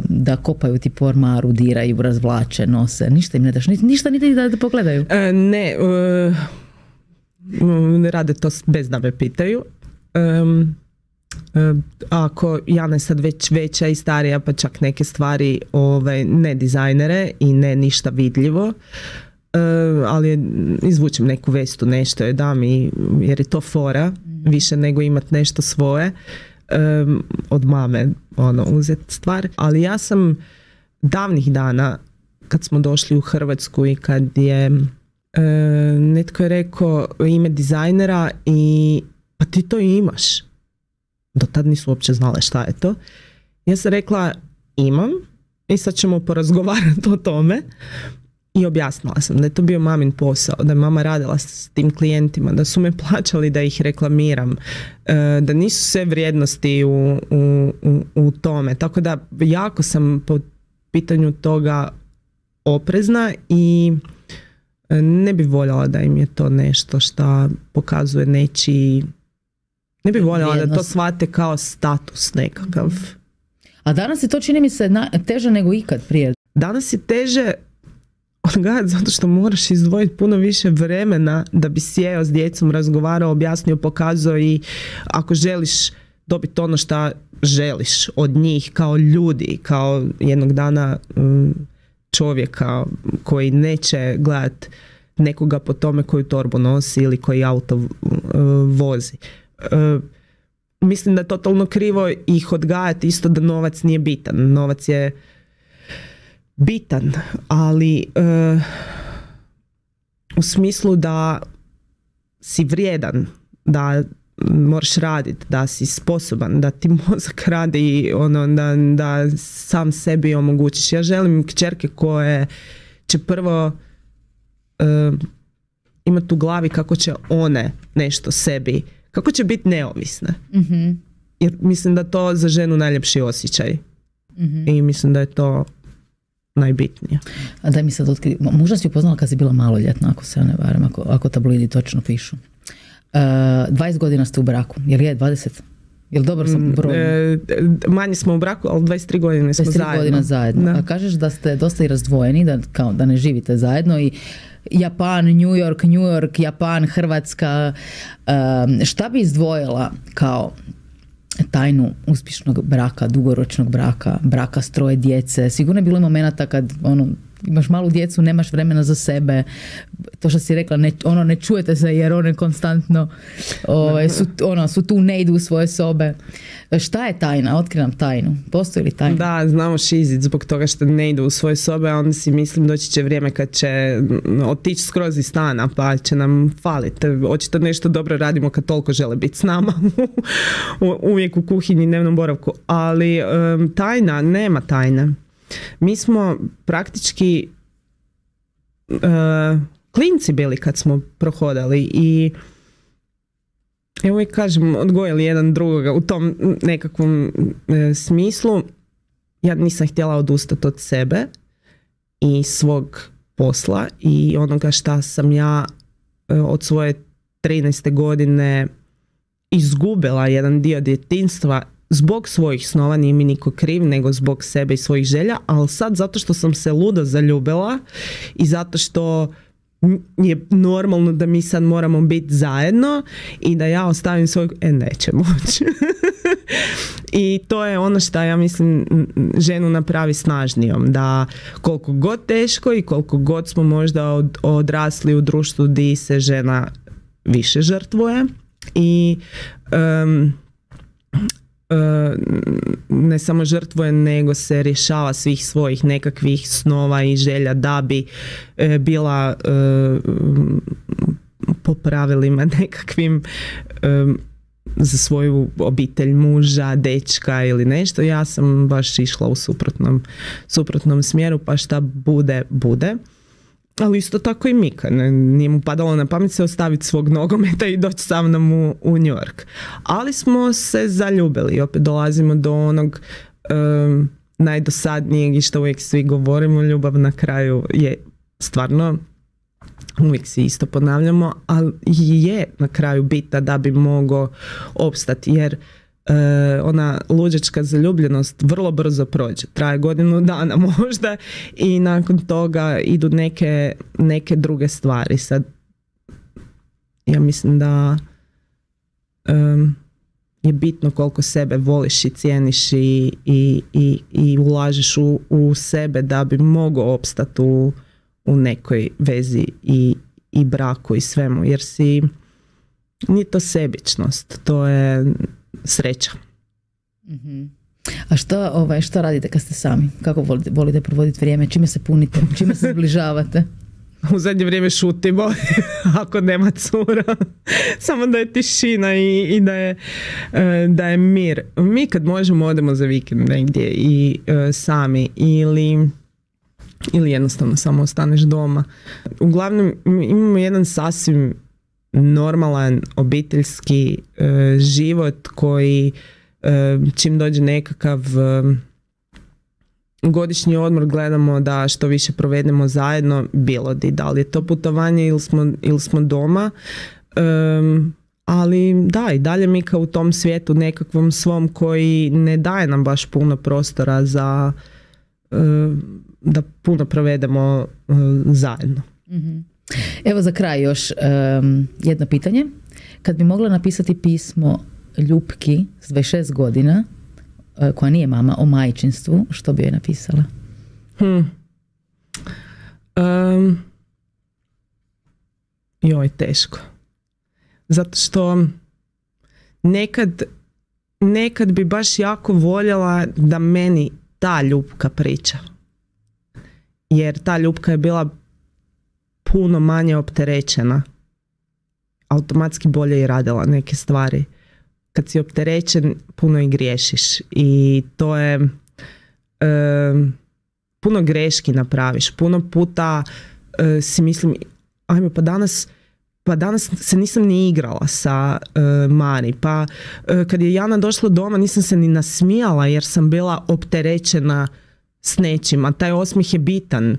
da kopaju ti po ormaru, diraju, razvlače, nose, ništa im ne daš, ništa niti da pogledaju? Ne rade to bez da me pitaju. Ako Jana je sad već veća i starija, pa čak neke stvari ne dizajnere i ne ništa vidljivo, ali izvučem neku vestu, nešto je dam jer je to fora, više nego imat nešto svoje, od mame uzet stvar. Ali ja sam davnih dana, kad smo došli u Hrvatsku i kad je netko je rekao ime dizajnera i pa ti to imaš. Do tad nisu uopće znale šta je to. Ja sam rekla imam i sad ćemo porazgovarati o tome. I objasnila sam da je to bio mamin posao, da je mama radila s tim klijentima, da su me plaćali da ih reklamiram, da nisu sve vrijednosti u tome. Tako da jako sam po pitanju toga oprezna i ne bi voljela da im je to nešto što pokazuje nečiji Ne bi voljela da to vrijednost. shvate kao status nekakav. A danas je to, čini mi se, teže nego ikad prije. Danas je teže odgajati zato što moraš izdvojiti puno više vremena da bi sjeo s djecom, razgovarao, objasnio, pokazao i ako želiš dobiti ono što želiš od njih kao ljudi, kao jednog dana čovjeka koji neće gledat nekoga po tome koju torbu nosi ili koji auto vozi. Mislim da je totalno krivo ih odgajati isto da novac nije bitan. Novac je bitan, ali u smislu da si vrijedan, da moraš raditi, da si sposoban, da ti mozak radi, da sam sebi omogućiš. Ja želim kćerke koje će prvo imati u glavi kako će one nešto sebi, kako će biti neovisne. Mm-hmm. Jer mislim da to za ženu najljepši osjećaj. Mm-hmm. I mislim da je to najbitnije. A daj mi sad otkri, možda si upoznala kad si bila maloljetna, ako se ja ne varam, ako tabloidi točno pišu. 20 godina ste u braku, jel je 20? Jel dobro sam broj? Manje smo u braku, ali 23 godine smo zajedno. 23 godina zajedno. Da. A kažeš da ste dosta i razdvojeni, da ne živite zajedno i Japan, New York, Japan, Hrvatska. Šta bi izdvojila kao tajnu uspješnog braka, dugoročnog braka s 3 djece? Sigurno je bilo momenata kad imaš malu djecu, nemaš vremena za sebe, to što si rekla, ne čujete se jer one konstantno su tu, ne idu u svoje sobe. Šta je tajna? Otkri nam tajnu. Postoji li tajna? Da, znamo šizit zbog toga što ne idu u svoje sobe, a onda si mislim doći će vrijeme kad će otići skroz iz stana, pa će nam faliti. Očito nešto dobro radimo kad toliko žele biti s nama uvijek u kuhinji, dnevnom boravku, ali tajna, nema tajne. Mi smo praktički klinci bili kad smo prohodali i evo uvijek kažem, odgojili jedan drugoga u tom nekakvom smislu. Ja nisam htjela odustati od sebe i svog posla i onoga šta sam ja od svoje 13. godine izgubila jedan dio djetinjstva zbog svojih snova, nije mi niko kriv, nego zbog sebe i svojih želja, ali sad zato što sam se ludo zaljubila i zato što je normalno da mi sad moramo biti zajedno i da ja ostavim svoj... neće moći. I to je ono što ja mislim ženu napravi snažnijom, da koliko god teško i koliko god smo možda odrasli u društvu gdje se žena više žrtvuje i ne samo žrtvuje, nego se rješava svih svojih nekakvih snova i želja da bi bila po pravilima nekakvim za svoju obitelj, muža, dečka ili nešto. Ja sam baš išla u suprotnom smjeru, pa šta bude, bude. Ali isto tako i Mika. Nije mu padalo na pamet se ostaviti svog nogometa i doći sa mnom u New York. Ali smo se zaljubili i opet dolazimo do onog najdosadnijeg i što uvijek svi govorimo, ljubav na kraju je stvarno, uvijek si isto ponavljamo, ali je na kraju bitna da bi mogao opstati, jer ona luđačka zaljubljenost vrlo brzo prođe, traje godinu dana možda i nakon toga idu neke druge stvari. Sad ja mislim da je bitno koliko sebe voliš i cijeniš i ulažeš u sebe da bi mogao opstati u nekoj vezi i braku i svemu, jer nije to sebičnost, to je sreća. Mm-hmm. A što radite kad ste sami? Kako volite provoditi vrijeme? Čime se punite? Čime se zbližavate? U zadnje vrijeme šutimo ako nema cura. Samo da je tišina i da je mir. Mi kad možemo odemo za vikend negdje i sami ili jednostavno samo ostaneš doma. Uglavnom imamo jedan sasvim normalan obiteljski život koji čim dođe nekakav godišnji odmor gledamo da što više provedemo zajedno, bilo da li je to putovanje ili smo doma, Ali da, i dalje mi kao u tom svijetu nekakvom svom koji ne daje nam baš puno prostora za da puno provedemo zajedno. Evo za kraj još jedno pitanje. Kad bi mogla napisati pismo Ljupki s 26 godina, koja nije mama, o majčinstvu, što bi joj napisala? Joj, teško. Zato što nekad bi baš jako voljela da meni ta Ljupka priča. Jer ta Ljupka je bila puno manje opterećena. Automatski bolje i radila neke stvari. Kad si opterećen, puno i griješiš. I to je puno greški napraviš. Puno puta si mislim, ajme, pa danas se nisam ni igrala sa Mari. Pa kad je Jana došla doma nisam se ni nasmijala jer sam bila opterećena s nečim, a taj osmijeh je bitan.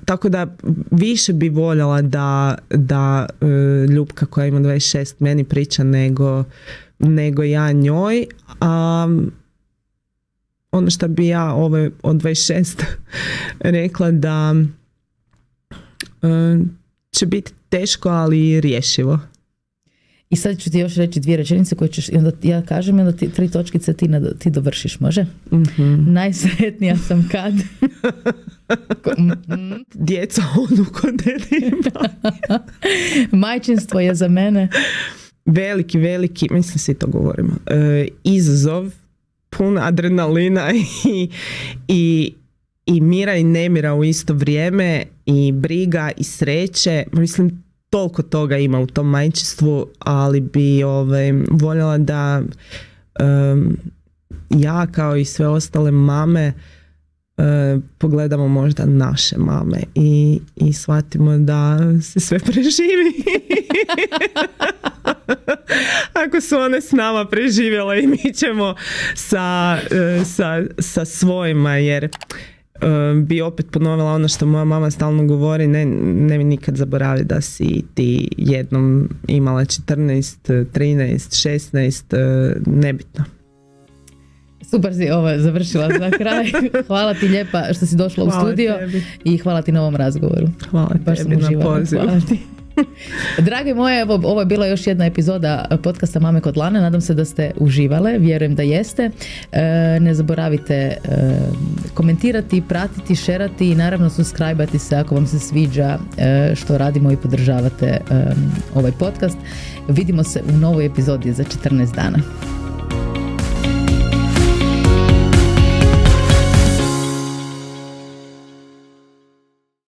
Tako da više bi voljela da Ljupka koja ima 26 meni priča nego ja njoj. A ono što bi ja od 26 rekla da će biti teško, ali rješivo. I sad ću ti još reći 2 rečenice koje ćeš, onda ja kažem i onda 3 točkice ti dovršiš, može? Najsretnija sam kad... Djeca odu kod dedima. Majčinstvo je za mene... Veliki, mislim svi to govorimo, izazov, pun adrenalina i mira i nemira u isto vrijeme, i briga i sreće. Mislim, toliko toga ima u tom majčinstvu, ali bi voljela da ja kao i sve ostale mame pogledamo možda naše mame i shvatimo da se sve preživi. Ako su one s nama preživjele i mi ćemo sa svojima, jer bi opet ponovila ono što moja mama stalno govori, ne mi nikad zaboravi da si ti jednom imala 14, 13, 16, nebitno. Super si ovo završila za kraj. Hvala ti lijepa što si došla u studio i hvala ti na ovom razgovoru. Hvala tebi na pozivu. Drage moje, ovo je bila još jedna epizoda podcasta Mame kod Lane. Nadam se da ste uživale, vjerujem da jeste. Ne zaboravite komentirati, pratiti, šerati i naravno subscribe-ati se ako vam se sviđa što radimo i podržavate ovaj podcast. Vidimo se u novoj epizodi za 14 dana.